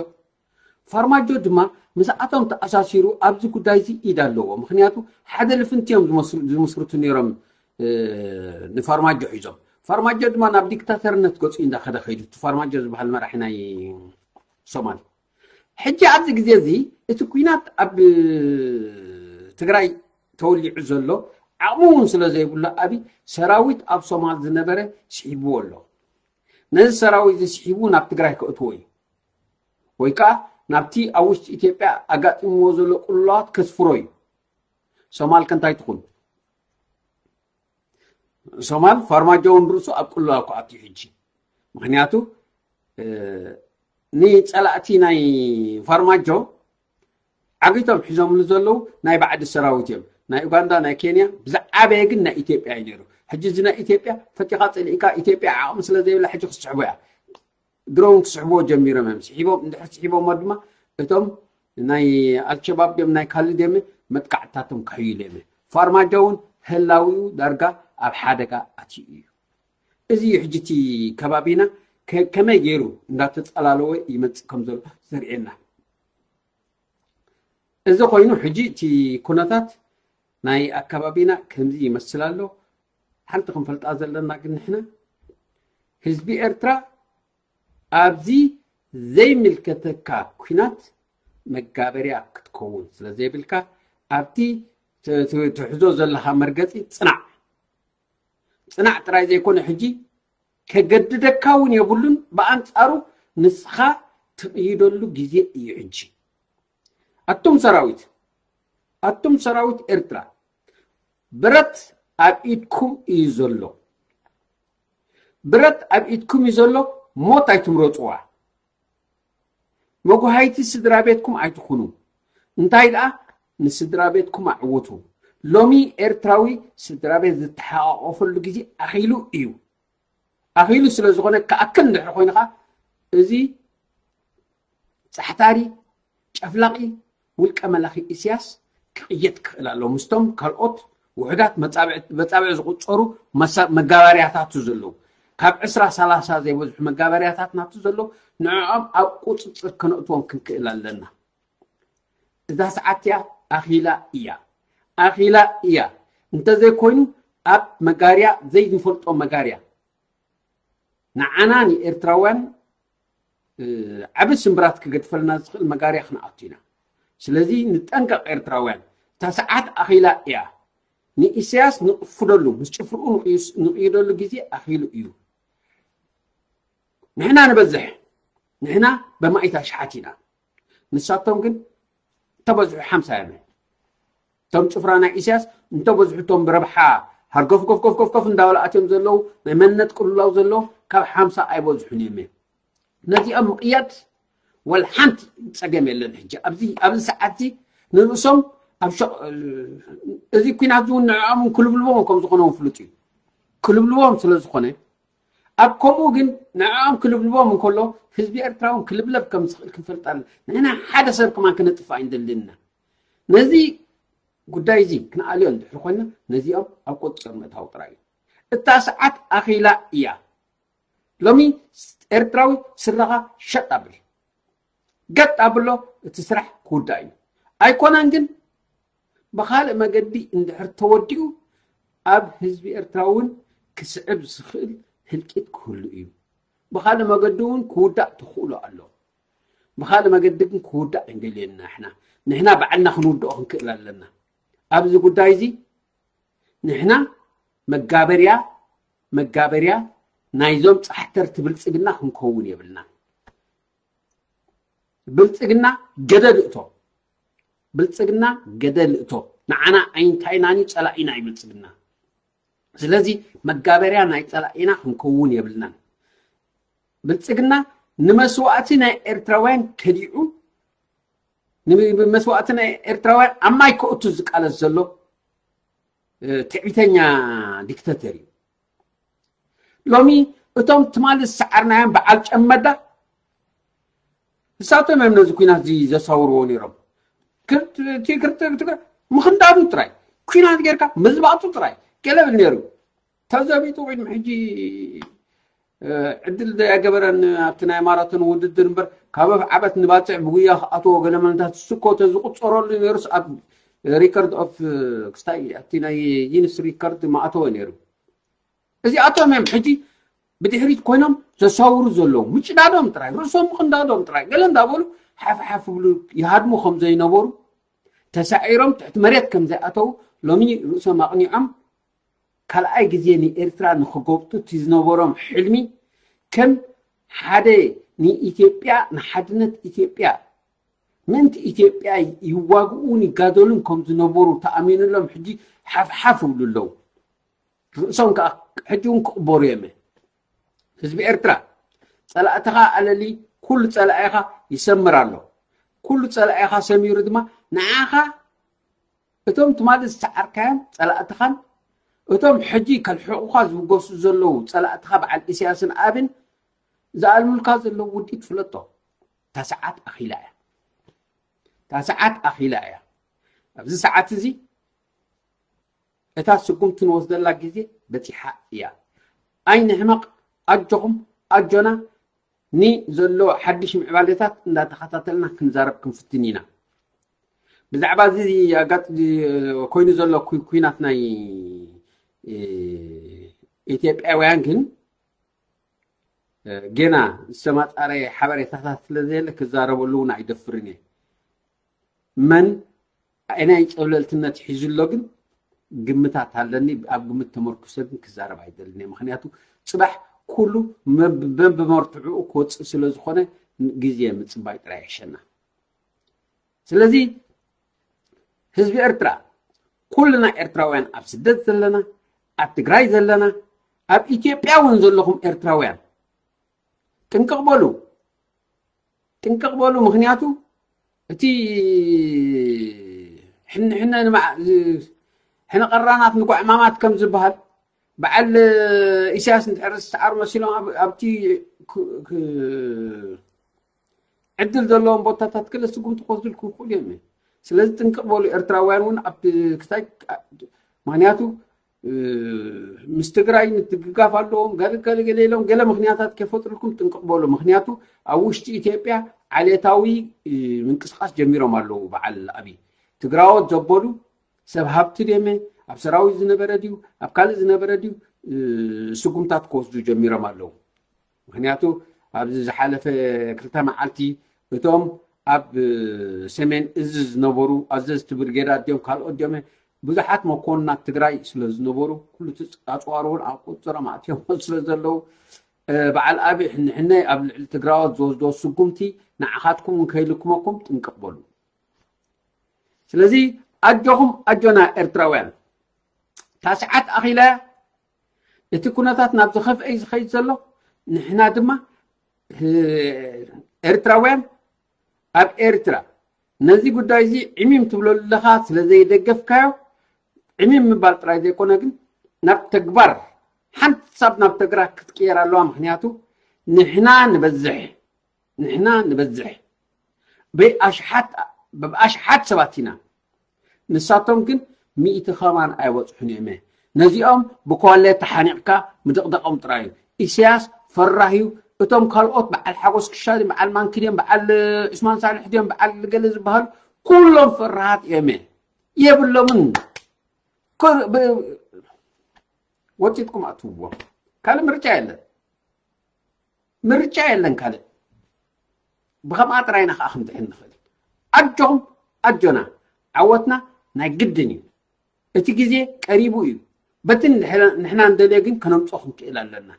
ፋርማጆ ድማ ምስኣቶም ተኣሳሲሩ ኣብዚ ጉዳይ እዚ ኢድ ኣለዎ። ምክንያቱ ሓደ ልፍንቲ እዮም ዝመስርቱ ነይሮም ንፋርማጆ ሒዞም። ፋርማጆ ድማ ናብ ዲክታተርነት ገፁ እንዳኸደ ከይዱ፣ እቲ ፋርማጆ ዝበሃል መራሒ ናይ ሶማል። ሕጂ ኣብዚ ግዜ እዚ እቲ ኩናት ኣብ ትግራይ ተወሊዑ ዘሎ ዓቕሚ እውን ስለ ዘይብሉ፣ ኣብይ ሰራዊት ኣብ ሶማል ዝነበረ ስሒብዎ ኣሎ። ነዚ ሰራዊት እዚ ስሒቡ ናብ ትግራይ ከእትዎ እዩ፣ ወይ ከዓ ናብቲ ኣብ ውሽጢ ኢትዮጵያ ኣጋጢምዎ ዘሎ ቅልውላዋት ከስፍሮ እዩ። ሶማል ከ እንታይ ትኹን? ሶማል ፋርማጆ እውን ርእሱ ኣብ ቅልውላው ክኣቱ እዩ ሕጂ። ምክንያቱ ንፀላእቲ ናይ ፋርማጆ ዓጊቶም ሒዞምሉ ዘለዉ ናይ ባዕዲ ሰራዊት እዮም። ናይ ኡጋንዳ፣ ናይ ኬንያ፣ ብዝዓበየ ግን ናይ ኢትዮጵያ እዩ ነይሩ። ሕጂ እዚ ናይ ኢትዮጵያ ፈቲኻ ፀሊእካ፣ ኢትዮጵያ ዓቕሚ ስለ ዘይብላ ሕጂ ክስሕቦ እያ። ድሮውን ክስሕብዎ ጀሚሮም እዮም። ስሒቦም እንድሕር ስሒቦሞ ድማ እቶም ናይ ኣልሸባብ ድዮም ናይ ካልእ ድዮም መጥቃዕትታቶም ክሕይሉ እዮም። ፋርማጆ እውን ህላዊኡ ዳርጋ ኣብ ሓደጋ ኣትዩ እዩ። እዚ እዩ ሕጂ እቲ ከባቢና ከመይ ገይሩ እንዳተፀላለወ ይመፅእ ከም ዘሎ ዘርእየና። እዚ ኮይኑ ሕጂ እቲ ኩነታት ናይ ኣከባቢና ከምዚ ይመስል ኣሎ። ሓንቲ ክንፈልጣ ዘለና ግን ንሕና ህዝቢ ኤርትራ ኣብዚ ዘይምልከተካ ኩናት መጋበርያ ክትከውን ስለ ዘይብልካ ኣብቲ ትሕዞ ዘለካ መርገፂ ፅናዕ። ፅናዕ ጥራይ ዘይኮነ ሕጂ ከገድደካ እውን የብሉን። ብኣንፃሩ ንስኻ ትቕይደሉ ግዜ እዩ ሕጂ። ኣቱም ሰራዊት ኣቱም ሰራዊት ኤርትራ ብረት ኣብ ኢድኩም እዩ ዘሎ። ብረት ኣብ ኢድኩም እዩ ዘሎ። ሞት ኣይትምረፅዋ። መጉሃይቲ ስድራ ቤትኩም ኣይትኹኑ። እንታይ ደኣ ንስድራ ቤትኩም ኣዕውቱ። ሎሚ ኤርትራዊ ስድራ ቤት ዝተሓቋቆፈሉ ግዜ ኣኺሉ እዩ። ኣኺሉ ስለ ዝኾነ ክኣክል እንድሕር ኮይንኻ እዚ ጻሕታሪ ጨፍላቒ ውልቀ መላኺ ኢሳያስ ክቕየድ ክኽእል ኣሎ ምስቶም ካልኦት ውሑዳት መጻብዕ ዝቑጸሩ መጋበርያታቱ ዘለዉ ካብ ዕስራ ሰላሳ ዘይበዝሑ መጋበርያታት ናቱ ዘለዉ ንዕኦም ኣብ ቁጽጽር ከነእትዎም ክንክእል ኣለና። እዛ ሰዓት እያ ኣኺላ እያ ኣኺላ እያ። እንተዘይኮይኑ ኣብ መጋርያ ዘይንፈልጦ መጋርያ ንዓና ንኤርትራውያን ዓቢ ስምብራት ክገድፈልና ዝኽእል መጋርያ ክንኣቱ ኢና። ስለዚ ንጠንቀቕ ኤርትራውያን፣ እታ ሰዓት ኣኺላ እያ። ንኢሳያስ ንቕፍደሉ፣ ምስ ጭፍርኡ ንቕይደሉ ግዜ ኣኺሉ እዩ። ንሕና ንበዝሕ፣ ንሕና በማኢት ኣሽሓት ኢና። ንሳቶም ግን እንተበዝሑ ሓምሳ እዮም። እቶም ጭፍራ ናይ ኢሳያስ እንተበዝሑ እቶም ብረብሓ ሃርገፍ ገፍ ገፍ ገፍ ገፍ እንዳበሉ ኣትዮም ዘለዉ ናይ መንነት ቅልውላው ዘለዉ ካብ ሓምሳ ኣይበዝሑን እዮም። ነዚኦም ምቕያድ ወላ ሓንቲ ጸገም የለን። ሕጂ ኣብዚ ኣብዚ ሰዓት እዚ ንርእሶም ኣብ ሸቕ እዚ ኲናት እውን ንዕኦም ክልብልቦም ከም ዝኾነ እውን ፍሉጥ እዩ። ክልብልቦም ስለ ዝኾነ ኣብ ከምኡ ግን ንዕኦም ክልብልቦም እንከሎ ህዝቢ ኤርትራ እውን ክልብለብ ከም ዝኽእል ክንፈልጥ ኣለና። ንሕና ሓደ ሰብ ከማን ክነጥፍእ ኣይንደልን ኢና። ነዚ ጉዳይ እዚ ክንኣልዮ እንድሕር ኮይና ነዚኦም ኣብ ቁፅፅር ምእታው ጥራይ እዩ። እታ ሰዓት ኣኺላ እያ። ሎሚ ኤርትራዊ ስረኻ ሸጥ ኣብል፣ ገጥ ኣብሎ፣ እቲ ስራሕ ክውዳእ እዩ። ኣይኮነን ግን ብኻልእ መገዲ እንድሕር ተወዲኡ ኣብ ህዝቢ ኤርትራ እውን ክስዕብ ዝኽእል ህልቂት ክህሉ እዩ። ብኻልእ መገዲ እውን ክውዳእ ተኽእሎ ኣሎ። ብኻልእ መገዲ ግን ክውዳእ ኣይንደልየን ኢና። ንሕና ንሕና ባዕልና ክንውድኦ ክንክእል ኣለና። ኣብዚ ጉዳይ እዚ ንሕና መጋበርያ መጋበርያ ናይዞም ጻሕተርቲ ብልጽግና ክንከውን የብልናን። ብልጽግና ገደል እቶ ብልጽግና ገደል እቶ ንዓና ኣይንታይናን እዩ፣ ጸላኢና እዩ ብልጽግና። ስለዚ መጋበርያ ናይ ጸላኢና ክንከውን የብልናን። ብልጽግና ንመስዋእቲ ናይ ኤርትራውያን ከዲዑ፣ ንመስዋእቲ ናይ ኤርትራውያን ኣብ ማይ ከእቱ ዝቃለስ ዘሎ ትዕቢተኛ ዲክተተር እዩ። ሎሚ እቶም ትማሊ ዝሰዓርናዮም በዓል ጨመዳ፣ ንሳቶም እዮም ነዚ ኩናት እዚ ዘሳውርዎ ነይሮም። ምኽንዳዱ ጥራይ፣ ኩናት ጌርካ ምዝባጡ ጥራይ ገለ ብል ነይሩ። ተዘቢጡ ቅድሚ ሕጂ ዕድል ዘያገበረን ኣብቲ ናይ ማራቶን ውድድር እምበር፣ ካብ ኣፍዓበት ንባፅዕ ብጉያ ክኣትዎ ገለ መለታት ስኮ ተዝቁፀረሉ ነይሩስ ኣብ ሪከርድ ኦፍ ክስታይ ኣብቲ ናይ ጊንስ ሪከርድ ማእተወ ነይሩ። እዚኣቶም እዮም ሕጂ ብድሕሪት ኮይኖም ዘሳውሩ ዘለዉ። ምጭዳዶም ጥራይ፣ ርእሶም ምቕንዳዶም ጥራይ፣ ገለ እንዳበሉ ሓፍ ሓፍ ብሉ ይሃድሙ ከም ዘይነበሩ፣ ተሳዒሮም ትሕቲ መሬት ከም ዘይኣተዉ፣ ሎሚ ርእሶም ኣቕኒዖም ካልኣይ ግዜ ንኤርትራ ንኽጎብጡ እቲ ዝነበሮም ሕልሚ ከም ሓደ ንኢትዮጵያ፣ ንሓድነት ኢትዮጵያ፣ ምእንቲ ኢትዮጵያ ይዋግኡን ይጋደሉን ከም ዝነበሩ ተኣሚኑሎም ሕጂ ሓፍሓፍ ይብሉ ኣለዉ። ርእሶም ከዓ ሕጂ እውን ክቕበሩ እዮም። ህዝቢ ኤርትራ፣ ጸላእትኻ ኣለሊ፣ ኩሉ ጸላኢኻ ይሰምር ኣሎ። ኩሉ ጸላኢኻ ሰሚሩ ድማ ንዓኻ እቶም ትማሊ ዝሰዓርካዮም ጸላእትኻን እቶም ሕጂ ከልሕቑኻ ዝብገሱ ዘለዉ ጸላእትኻ በዓል ኢሳያስን ኣብን ዝኣልሙልካ ዘለዉ ውዲት ፍለጦ። እታ ሰዓት ኣኺላ እያ። እታ ሰዓት ኣኺላ እያ። ኣብዚ ሰዓት እዚ እታ ስጉምቲ ንወስደላ ግዜ በጺሓ እያ። ኣይንሕመቕ፣ ኣጆኹም፣ ኣጆና፣ ንዘሎ ሓድሽ ምዕባለታት እንዳተኸታተልና ክንዛረብ ክንፍትን ኢና። ብዛዕባ እዚ ኣጋጥ-፣ ኮይኑ ዘሎ ኩ-፣ ኩናት ናይ፣ እ፣ ኢትዮጵያውያን ግን፣ እ፣ ጌና ዝተማጻረየ ሓበሬታታት ስለ ዘየለ ክዛረበሉ እውን ኣይደፍርን እየ። መን ኣየናይ ጸብለልትነት ሒዙ ኣሎ ግን ግምታት ኣለኒ። ኣብ ግምት ተመርኩሰ ግን ክዛረብ ኣይደልን እየ። ምኽንያቱ ጽባሕ ኩሉ መብ-፣ መብመርትዕኡ ክወጽእ ስለ ዝኾነ ግዜ ምጽባይ ጥራይ ይሕሸና። ስለዚ ህዝቢ ኤርትራ፣ ኩልና ኤርትራውያን ኣብ ስደት ዘለና፣ ኣብ ትግራይ ዘለና፣ ኣብ ኢትዮጵያ እውን ዘለኹም ኤርትራውያን ጥንቅቕ በሉ። ጥንቅቕ በሉ። ምኽንያቱ እቲ ሕንሕነ ንማ-፣ ሕነ ቀራናት ንጓዕማማት ከም ዝበሃል፣ በዓል ኢሳያስ እንድሕር ዝሰዓሩ መሲሎም ኣብ-፣ ኣብቲ ክ-፣ ክ-፣ ዕድል ዘለዎም ቦታታት ክለ ስጉምቲ ክወስዱልኩም ይኽእሉ እዮም። ስለዚ ጥንቅቕ በሉ። ኤርትራውያን እውን ኣብቲ ክሳይ፣ ምኽንያቱ፣ እ፣ ምስ ትግራይ ምትግጋፍ ኣለዎም፣ ገለ ገለ ገለ ኢሎም ገለ ምኽንያታት ከይፈጥሩልኩም ጥንቅቕ በሉ። ምኽንያቱ ኣብ ውሽጢ ኢትዮጵያ ዓሌታዊ፣ እ፣ ምንቅስቃስ ጀሚሮም ኣለዉ። በዓል ኣብይ ትግራዎት ዘበሉ ሰብ ሃብቲ ድዮመ፣ ኣብ ሰራዊት ዝነበረ ድዩ፣ ኣብ ካልእ ዝነበረ ድዩ፣ እ፣ ስጉምታት ክወስዱ ጀሚሮም ኣለዉ። ምኽንያቱ ኣብዚ ዝሓለፈ ክልተ መዓልቲ እቶም ኣብ ሰሜን እዝ ዝነበሩ ኣዘዝቲ ብርጌዳት ድዮም ካልኦት ድዮም ብዙሓት መኮንናት ትግራይ ስለ ዝነበሩ ኩሉ እቲ ኣፅዋር እውን ኣብ ቁፅሮም ኣትዮም ስለ ዘለዉ፣ እ፣ በዓል ኣብይ ሕንሕነ ኣብ ልዕሊ ትግራዎት ዝወስዶ ስጉምቲ ንዓኻትኩም እውን ከይልክመኩም ጥንቅቕ በሉ። ስለዚ ኣጆኹም ኣጆና ኤርትራውያን፣ እታ ሰዓት ኣኺላ እያ። እቲ ኩነታት ናብ ዝኸፍአ እዩ ዝኸይድ ዘሎ። ንሕና ድማ፣ እ፣ ኤርትራውያን ኣብ ኤርትራ ነዚ ጉዳይ እዚ ዕሚም ትብለሉ ኣለኻ ስለ ዘይደገፍካዮ፣ ዕሚም ምባል ጥራይ ዘይኮነ ግን ናብ ተግባር ሓንሳብ ናብ ተግባር ክትቅየር ኣለዋ። ምኽንያቱ ንሕና ንበዝሕ፣ ንሕና ንበዝሕ። ብኣሽሓት፣ ብኣሽሓት ሰባት ኢና። ንሳቶም ግን ሚእቲ ከማን ኣይበጽሑን እዮም። ነዚኦም ብኳለ ተሓኒቕካ ምድቕዳቖም ጥራይ እዩ። ኢሳያስ ፈራህ እዩ። እቶም ካልኦት በዓል ሓጎስ ክሻ ድዮም፣ በዓል ማንኪ ድዮም፣ በዓል ዑስማን ሳልሕ ድዮም፣ በዓል ገለ ዝበሃሉ ኩሎም ፈራሃት እዮም። የብሎምን። ኮ-፣ ብ-፣ ወጢጥኩም ኣትውዎም። ካልእ ምርጫ የለን። ምርጫ የለን ካልእ። ብኸምኣ ጥራይ ኢና ከኣ ክንድሕን ንኽእል። ኣጆኹም፣ ኣጆና። ዓወትና ናይ ግድን እዩ። እቲ ግዜ ቀሪቡ እዩ። በቲ ንሕና፣ ንሕና እንደልዮ ግን ከነምጽኦ ክንክእል ኣለና።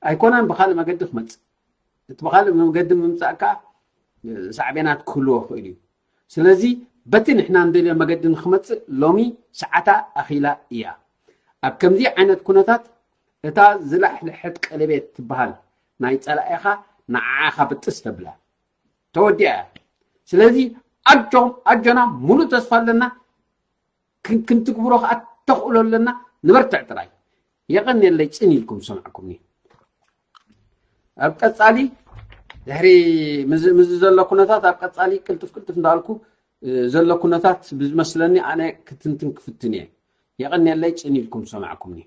ኣይኮነን ብኻልእ መገዲ ክመጽእ። እቲ ብኻልእ መገዲ ምምጻእ ከኣ ሳዕቤናት ክህልዎ ይኽእል እዩ። ስለዚ በቲ ንሕና እንደልዮ መገዲ ንክመጽእ ሎሚ ሰዓታ ኣኺላ እያ። ኣብ ከምዚ ዓይነት ኩነታት እታ ዝላሕለሐት ቀለቤት ትበሃል ናይ ጸላኢኻ ንዓኻ ብጥስ ተብላ ተወዲኣ እያ። ስለዚ ኣጆኹም ኣጆና፣ ሙሉእ ተስፋ ኣለና። ክንትግብሮ ከዓ ተኽእሎ ኣለና። ንበርትዕ ጥራይ። የቐንየለይ ጽን ኢልኩም ዝሰማዕኩምኒ። ኣብ ቀጻሊ ድሕሪ ምዚ ዘሎ ኩነታት ኣብ ቀጻሊ ቅልጥፍ ቅልጥፍ እንዳልኩ ዘሎ ኩነታት ብዝመስለኒ ኣነ ክትንትን ክፍትን እየ። የቐንየለይ ጽን ኢልኩም ዝሰማዕኩምኒ።